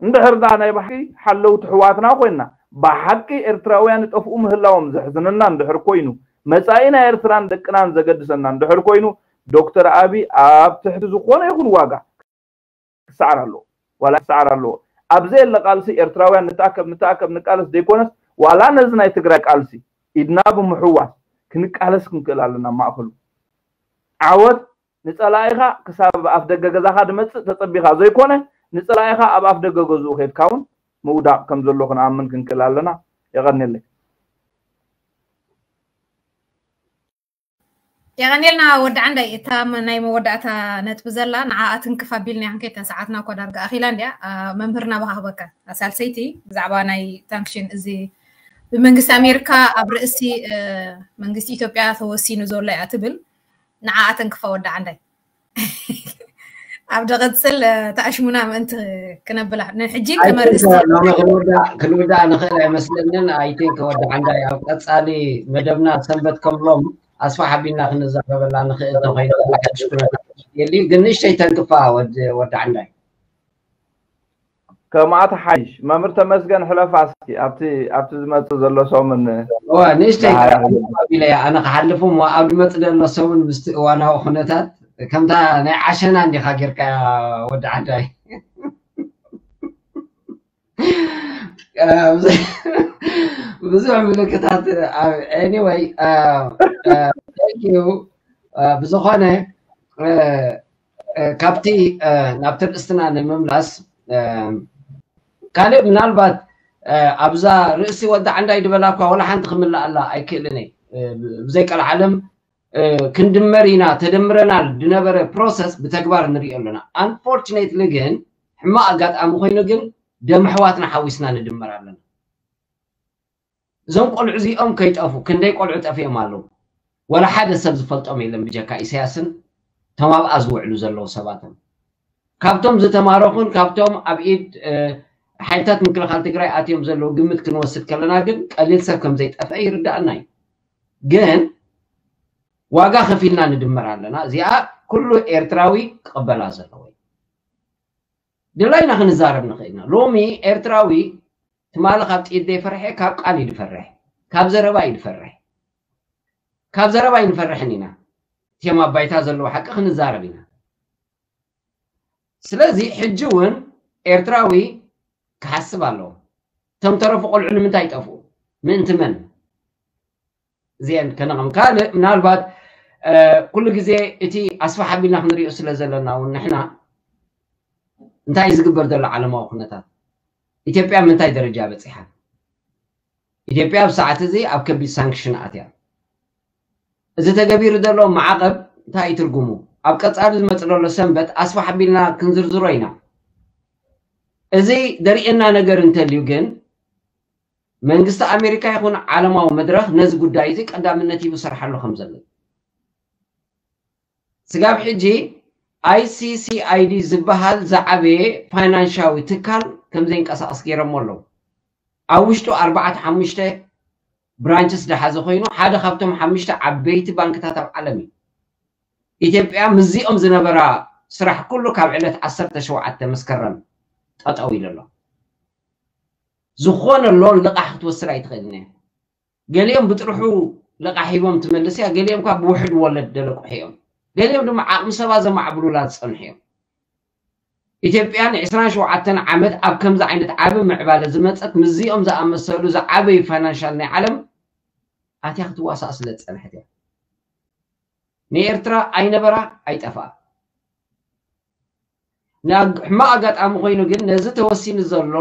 እንድሕር ደኣ ናይ ብሓቂ ሓለውቲ ኣሕዋትና ኮይና ብሓቂ ኤርትራውያን ይጠፍኡ ምህላዎም ዘሕዝነና እንድሕር ኮይኑ መጻኢ ናይ ኤርትራን ደቅናን ዘገድሰና እንድሕር ኮይኑ ዶክተር ኣቢ ኣብ ትሕቲ ዝኾነ ይኹን ዋጋ ክሰዓር ኣለዎ ዋላ ክሰዓር ኣለዎ ኣብ ዘየለ ቃልሲ ኤርትራውያን ንተኣከብ ንተኣከብ ንቃለስ ዘይኮነስ ዋላ ነዚ ናይ ትግራይ ቃልሲ ኢድና ብምሕዋስ ክንቃለስ ክንክእል ኣለና ማእኸሉ ዓወት ንጸላኢኻ ክሳብ ኣፍ ደገ ገዛኻ ድመጽእ ተጸቢኻ ዘይኮነ ንጸላኢኻ ኣብ ኣፍ ደገ ገዝኡ ከድካ እውን ምውዳቕ ከም ዘሎ ክንኣምን ክንክእል ኣለና የቐንየለይ የቐንየልና ወዲ ዓንዳይ እታ ናይ መወዳእታ ነጥቢ ዘላ ንዓኣ ትንክፍ ኣቢልና ክንከይድ ሰዓትና እኮ ዳርጋ ኣኺላ እንድያ መምህርና ባሃኽበካ ሳልሰይቲ ብዛዕባ ናይ ታንክሽን እዚ ብመንግስቲ ኣሜሪካ ኣብ ርእሲ መንግስቲ ኢትዮጵያ ተወሲኑ ዘሎ እያ ትብል ንዓኣ ተንክፋ ወዲ ዓንዳይ ኣብ ደቐፅል ተኣሽሙና ምእንቲ ክነብላ ንሕጂ ከመርእስቲ ክንውዳእ ንኽእል ኣይመስለንን ኣይቲንክ ወዲ ዓንዳይ ኣብ ቀፃሊ መደብና ሰንበት ከምሎም ኣስፋ ሓቢልና ክንዛረበላ ንኽእል ተኮይኑ ሓድሽ ኩነታት የልዩ ግን ንእሽተይ ተንክፋ ወዲ ዓንዳይ ከምኣ ትሓይሽ መምህር ተመስገን ሕለፋ እስኪ ኣብቲ ኣብቲ ዝመጽእ ዘሎ ሰሙን እዋ ንእሽተይ ኢለ ኣነ ክሓልፍ እሞ ኣብ ዝመጽእ ዘሎ ሰሙን ምስቲ እዋናዊ ኩነታት ከምታ ናይ ዓሸና እንዲኻ ጌርካ ወዲ ዓዳይ ብዙሕ ምልክታት anyway ብዝኾነ ካብቲ ናብቲ ርእስትና ንምምላስ ካልእ ምናልባት ኣብዛ ርእሲ ወዲ ዓንዳይ ድበላ እኳ ወላ ሓንቲ ክምልኣላ ኣይክእልን እየ ብዘይ ቀልዓለም ክንድመር ኢና ተደምረናል ድነበረ process ብተግባር ንሪኦ ኣለና unfortunately ግን ሕማቕ ኣጋጣሚ ኮይኑ ግን ደም ኣሕዋትና ሓዊስና ንድመር ኣለና እዞም ቆልዑ እዚኦም ከይጠፉ ክንደይ ቆልዑ ጠፊኦም ኣለዉ ወላ ሓደ ሰብ ዝፈልጦም የለን ብጀካ ኢሳያስን እቶም ኣብኣ ዝውዕሉ ዘለዉ ሰባትን ካብቶም ዝተማረኹን ካብቶም ኣብ ኢድ ሓይልታት ምክልኻል ትግራይ ኣትዮም ዘለዉ ግምት ክንወስድ ከለና ግን ቀሊል ሰብ ከም ዘይጠፍአ ይርዳእና እዩ ግን ዋጋ ከፊልና ንድመር ኣለና እዚኣ ኩሉ ኤርትራዊ ክቕበላ ዘለዎ ድላይና ክንዛረብ ንኽእል ኢና ሎሚ ኤርትራዊ ትማሊ ካብ ጥይት ዘይፈርሐ ካብ ቃል እዩ ዝፈርሕ ካብ ዘረባ እዩ ዝፈርሕ ካብ ዘረባ ኣይንፈርሕን ኢና እቲኦም ኣብ ባይታ ዘለዉ ሓቂ ክንዛረብ ኢና ስለዚ ሕጂ እውን ኤርትራዊ ክሓስብ ኣለዎ እቶም ተረፉ ቆልዑ ንምንታይ ይጠፍኡ ምእንቲ መን እዚአን ከነቕም ካልእ ምናልባት ኩሉ ግዜ እቲ ኣስፋሕ ኣቢልና ክንሪኦ ስለ ዘለና እውን ንሕና እንታይ ዝግበር ዘሎ ዓለማዊ ኩነታት ኢትዮጵያ ምንታይ ደረጃ በፂሓ ኢትዮጵያ ኣብ ሰዓት እዚ ኣብ ከቢድ ሳንክሽን ኣትያ እዚ ተገቢሩ ዘሎ ማዕቐብ እንታይ እዩ ትርጉሙ ኣብ ቀፃሊ ዝመፅ ዘሎ ሰንበት ኣስፋሕ ኣቢልና ክንዝርዝሮ ኢና እዚ ደርእየና ነገር እንተልዩ ግን መንግስቲ ኣሜሪካ ይኹን ዓለማዊ መድረኽ ነዚ ጉዳይ እዚ ቀዳምነት ሂቡ ሰርሓሉ ከም ዘሎ ስጋብ ሕጂ ኣይሲሲኣይዲ ዝበሃል ዝዓበየ ፋይናንሻዊ ትካል ከም ዘይንቀሳቐስ ገይሮሞ ኣለዉ ኣብ ውሽጡ ኣርባዕተ ሓሙሽተ ብራንችስ ዝሓዘ ኮይኑ ሓደ ካብቶም ሓሙሽተ ዓበይቲ ባንክታት ኣብ ዓለም እዩ ኢትዮጵያ ምስዚኦም ዝነበራ ስራሕ ኩሉ ካብ ዕለት ዓሰርተ ሸውዓተ መስከረም ጠጠው ኢሉ ኣሎ ዝኾነ ሎን ልቓሕ ክትወስድ ኣይትኽእልን እያ። ገሊኦም ብጥርሑ ልቓሕ ሂቦም ትመልስ እያ፣ ገሊኦም ካብ ብውሕድ ወለድ ደለቁሑ እዮም። ገሊኦም ድማ ዓቕሚ ሰባ ዘማዕብሉላ ዝጸንሑ እዮም። ኢትዮጵያ ን27 ዓመት ኣብ ከምዚ ዓይነት ዓቢ ምዕባለ ዝመጸት ምስዚኦም ዝኣመሰሉ ዝዓበዩ ፋይናንሻል ናይ ዓለም ኣትያ ክትዋሳእ ስለ ዝጸንሐት እያ። ንኤርትራ ኣይነበራ ኣይጠፍኣ። ሕማቕ ኣጋጣሚ ኮይኑ ግን ነዚ ተወሲኑ ዘሎ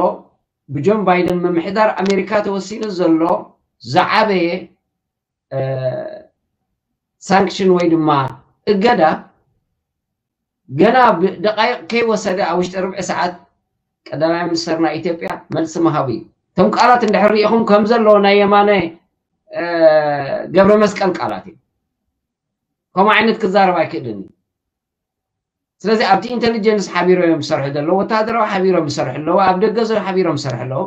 ብጆን ባይደን ምምሕዳር ኣሜሪካ ተወሲኑ ዘሎ ዝዓበየ ሳንክሽን ወይ ድማ እገዳ ገና ደቃይቕ ከይወሰደ ኣብ ውሽጢ ርብዒ ሰዓት ቀዳማይ ሚኒስተር ናይ ኢትዮጵያ መልሲ ምሃቡ እዩ። እቶም ቃላት እንድሕር ርኢኹም ከም ዘለዎ ናይ የማነ ገብረ መስቀል ቃላት እዩ። ከምኡ ዓይነት ክዛረብ ኣይክእልን እዩ። ስለዚ ኣብቲ ኢንቴሊጀንስ ሓቢሮም እዮም ዝሰርሑ ዘለዉ፣ ወታደራዊ ሓቢሮም ዝሰርሑ ኣለዉ፣ ኣብ ደገ ዘሎ ሓቢሮም ዝሰርሑ ኣለዉ።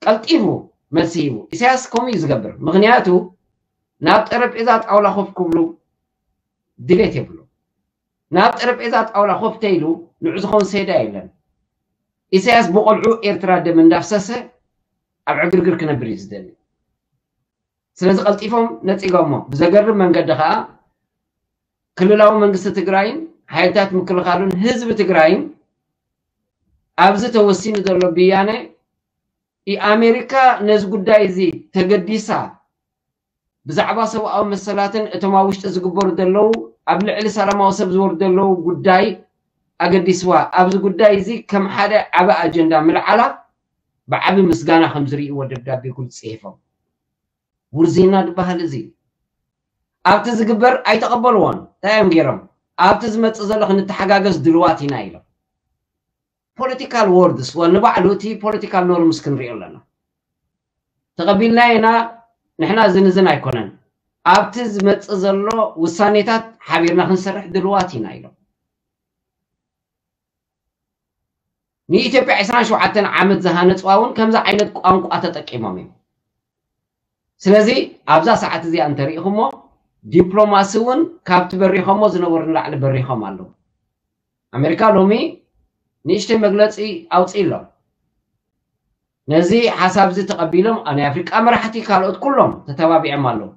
ቀልጢፉ መልሲ ሂቡ። ኢሳያስ ከምኡ እዩ ዝገብር። ምኽንያቱ ናብ ጠረጴዛ ጣውላ ኮፍ ክብሉ ድሌት የብሉ። ናብ ጠረጴዛ ጣውላ ኮፍ ተይሉ ንዑ ዝኸውን ሴዳ የለን። ኢሳያስ ብቆልዑ ኤርትራ ደም እንዳፍሰሰ ኣብ ዕግርግር ክነብር እዩ ዝደሊ። ስለዚ ቀልጢፎም ነጺጎሞ። ብዘገርም መንገዲ ከኣ ክልላዊ መንግስቲ ትግራይን ሓይልታት ምክልኻሉን ህዝቢ ትግራይን ኣብዚ ተወሲኑ ዘሎ ብያነ ኣሜሪካ ነዚ ጉዳይ እዚ ተገዲሳ ብዛዕባ ሰብኣዊ መሰላትን እቶም ኣብ ውሽጢ ዝግበሩ ዘለዉ ኣብ ልዕሊ ሰላማዊ ሰብ ዝወርዱ ዘለዉ ጉዳይ ኣገዲስዋ ኣብዚ ጉዳይ እዚ ከም ሓደ ዓቢ ኣጀንዳ ምልዓላ ብዓቢ ምስጋና ከም ዝርእይዎ ደብዳቤ ግልፂ ጽሒፎም። ውርዜና ዝበሃል እዚ ኣብቲ ዝግበር ኣይተቐበልዎን። እንታይ እዮም ገይሮም? ኣብቲ ዝመጽእ ዘሎ ክንተሓጋገዝ ድልዋት ኢና ኢሎም። ፖለቲካል ወርድስ ወ ንባዕሉ እቲ ፖለቲካል ኖርምስ ክንሪኦ ኣለና። ተቐቢልና ኢና ንሕና ዝንዝን ኣይኮነን። ኣብቲ ዝመጽእ ዘሎ ውሳኔታት ሓቢርና ክንሰርሕ ድልዋት ኢና ኢሎም። ንኢትዮጵያ ዕስራን ሸውዓተን ዓመት ዝሃነፅዋ እውን ከምዚ ዓይነት ቋንቋ ተጠቂሞም እዮም። ስለዚ ኣብዛ ሰዓት እዚኣ እንተሪኢኹሞ ዲፕሎማሲ እውን ካብቲ በሪኾሞ ዝነበሩ ንላዕሊ በሪኾም ኣለዉ። ኣሜሪካ ሎሚ ንእሽተይ መግለፂ ኣውፅእ ኣሎ። ነዚ ሓሳብ እዚ ተቐቢሎም ናይ ኣፍሪቃ መራሕቲ ካልኦት ኩሎም ተተባቢዖም ኣለዉ።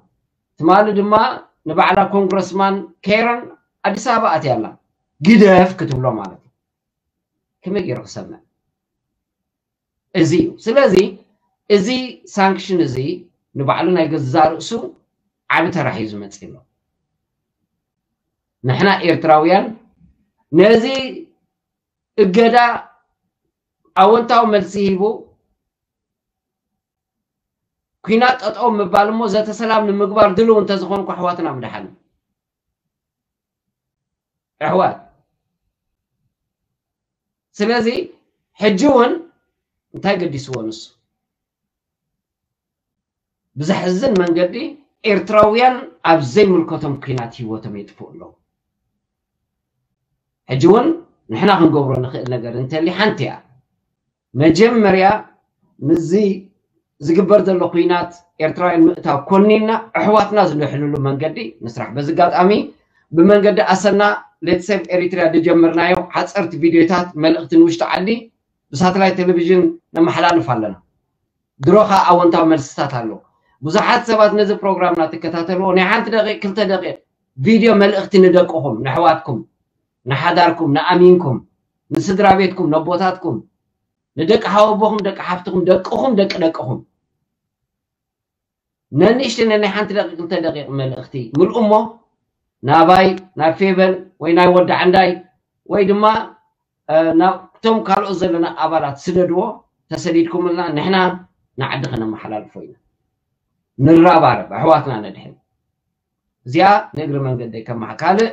ትማሊ ድማ ንባዕላ ኮንግረስማን ኬረን ኣዲስ ኣበባ ኣትያ ኣላ። ግደፍ ክትብሎ ማለት እዩ። ከመይ ገይሩ ክሰምዕ? እዚ እዩ። ስለዚ እዚ ሳንክሽን እዚ ንባዕሉ ናይ ገዛ ርእሱ ዓቢ ተራ ሒዙ መጺእ ኣሎ። ንሕና ኤርትራውያን ነዚ እገዳ ኣወንታዊ መልሲ ሂቡ ኲናት ጠጠው ምባል እሞ ዘተ ሰላም ንምግባር ድልው እንተዝኾንኩ ኣሕዋትና ምድሓን ኣሕዋት። ስለዚ ሕጂ እውን እንታይ ገዲስዎ ንሱ? ብዘሕዝን መንገዲ ኤርትራውያን ኣብ ዘይምልከቶም ኲናት ህይወቶም የጥፍኡ ኣለዉ። ሕጂ እውን ንሕና ክንገብሮ ንኽእል ነገር እንተሊ ሓንቲ እያ። መጀመርያ ምስዚ ዝግበር ዘሎ ኲናት ኤርትራውያን ምእታው ኮኒና ኣሕዋትና ዝድሕንሉ መንገዲ ንስራሕ። በዚ ኣጋጣሚ ብመንገዲ ኣሰና ሌትስ ሴቭ ኤሪትሪያ ዝጀመርናዮ ሓፀርቲ ቪድዮታት መልእኽቲ ንውሽጢ ዓዲ ብሳተላይት ቴሌቪዥን ነመሓላልፍ ኣለና። ድሮ ከዓ ኣወንታዊ መልስታት ኣሎ። ብዙሓት ሰባት ነዚ ፕሮግራምና ትከታተልዎ ናይ ሓንቲ ደቂቕ ክልተ ደቂቕ ቪድዮ መልእኽቲ ንደቅኹም፣ ንኣሕዋትኩም፣ ንሓዳርኩም፣ ንኣሚንኩም፣ ንስድራ ቤትኩም፣ ነቦታትኩም፣ ንደቂ ሓወቦኹም፣ ደቂ ሓፍትኹም፣ ደቅኹም፣ ደቂ ደቅኹም ነንእሽተይ ነናይ ሓንቲ ደቂቕ ክልተ ደቂቕ መልእኽቲ ምልኡ እሞ ናባይ ናብ ፌቨን ወይ ናይ ወዲ ዓንዳይ ወይ ድማ ናብቶም ካልኦት ዘለና ኣባላት ስደድዎ። ተሰዲድኩምልና ንሕና ንዓዲ ከነመሓላልፎ ኢና። ንራባረብ ኣሕዋትና ነድሕን። እዚኣ ንእግሪ መንገደይ ከመሓ ካልእ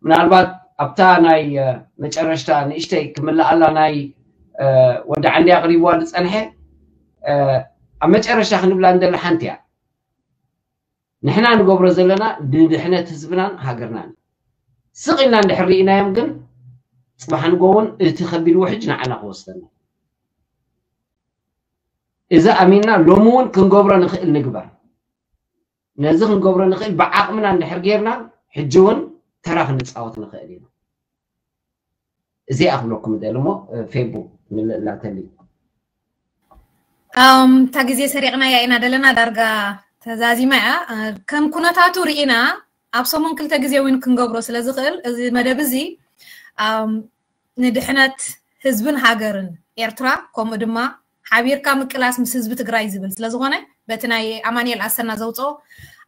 ምናልባት ኣብታ ናይ መጨረሽታ ንእሽተይ ክምልኣላ ናይ ወዲ ዓንዲ ኣቕሪብዋ ዝፀንሐ ኣብ መጨረሽታ ክንብላ እንደለ ሓንቲ እያ። ንሕና ንገብሮ ዘለና ንድሕነት ህዝብናን ሃገርናን ስቕ ኢልና እንድሕር ርኢናዮም ግን ፅባሕ ንጎ እውን እቲ ከቢድ ውሕጅ ንዓና ክወስደና። እዚ ኣሚንና ሎሚ እውን ክንገብሮ ንኽእል ንግበር። ነዚ ክንገብሮ ንኽእል ብዓቕምና እንድሕር ጌርና ሕጂ እውን ተራ ክንፃወት ንኽእል ኢና። እዚ ኣኽብለኩም ደሊ እሞ ፌቡ ምልእላተሊ። ኣም፣ እታ ግዜ ሰሪቕናያ ኢና ደለና፣ ዳርጋ ተዛዚማ እያ። እ፣ ከም ኩነታቱ ርኢና ኣብ ሰሙን ክልተ ግዜ እውን ክንገብሮ ስለ ዝኽእል፣ እዚ መደብ እዚ፣ ኣም፣ ንድሕነት ህዝብን ሃገርን ኤርትራ፣ ከምኡ ድማ ሓቢርካ ምቅላስ ምስ ህዝቢ ትግራይ ዝብል ስለ ዝኾነ፣ በቲ ናይ ኣማኑኤል ኣሰና ዘውፅኦ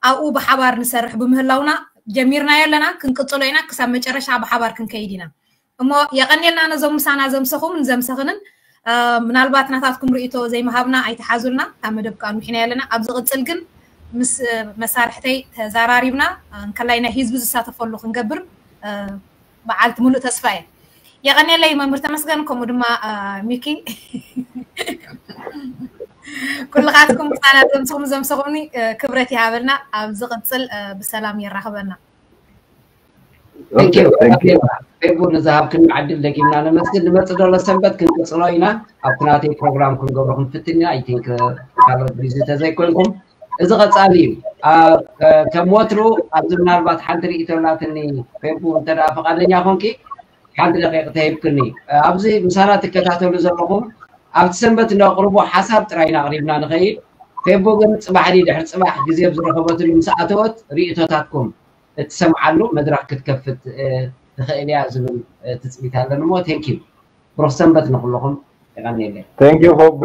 ኣብኡ ብሓባር ንሰርሕ ብምህላውና፣ ጀሚርናዮ ኣለና፣ ክንቅፅሎ ኢና፣ ክሳብ መጨረሻ ብሓባር ክንከይድ ኢና። እሞ የቐንየልና ነዞም ምሳና ዘምሰኹም ንዘምሰኽንን፣ እ፣ ምናልባት ናታትኩም ርእይቶ ዘይምሃብና ኣይትሓዙልና፣ እታ መደብ ከዓ ኣንዊሕና ኣለና። ኣብ ዝቕፅል ግን ምስ፣ እ፣ መሳርሕተይ ተዘራሪብና፣ እ፣ እንከላይ ናይ ህዝቢ ዝሳተፈሉ ክንገብር፣ እ፣ በዓልቲ ሙሉእ ተስፋ እየ። የቐንየለይ መምህር ተመስገን፣ ከምኡ ድማ፣ እ፣ ሚኪ። ኩልኻትኩም ምሳና ዘምሰኹም ዘምሰኹምኒ፣ እ፣ ክብረት ይሃበልና። ኣብ ዝቕፅል፣ እ፣ ብሰላም የራኽበና። Thank you። Thank you። ፌቡ፣ ንዝሃብክና ዕድል ደጊምና ነመስግን። ንመጽእ ዘሎ ሰንበት ክንቅጽሎ ኢና። ኣብቲ ናተይ ፕሮግራም ክንገብሮ ክንፍትን ኢና። I think ካልኦት ቢዚ ተዘይኮንኩም፣ እዚ ቀጻሊ እዩ። ኣብ፣ ከም ወትሩ ኣብዚ ምናልባት ሓንቲ ርእይቶ ኣላትኒ፣ ፌቡ፣ እንተ ደኣ ፈቓደኛ ኮንኪ ሓንቲ ደቂቕ ተሂብክኒ። ኣብዚ ምሳና ትከታተሉ ዘለኹም፣ ኣብቲ ሰንበት ነቕርቦ ሓሳብ ጥራይ ኢና ኣቕሪብና ንኸይድ። ፌቡ ግን ጽባሕ ድሕሪ ጽባሕ ግዜ ኣብ ዝረኸበትሉ ምስ ኣተወት ርእይቶታትኩም እትሰምዓሉ መድረኽ ክትከፍት፣ እ፣ ትኽእል እያ ዝብል፣ እ፣ ትጽቢት ኣለኒ። እሞ thank you። ብሩኽ ሰንበት ንኹልኹም። የቐንየለይ። Thank you ፌቡ።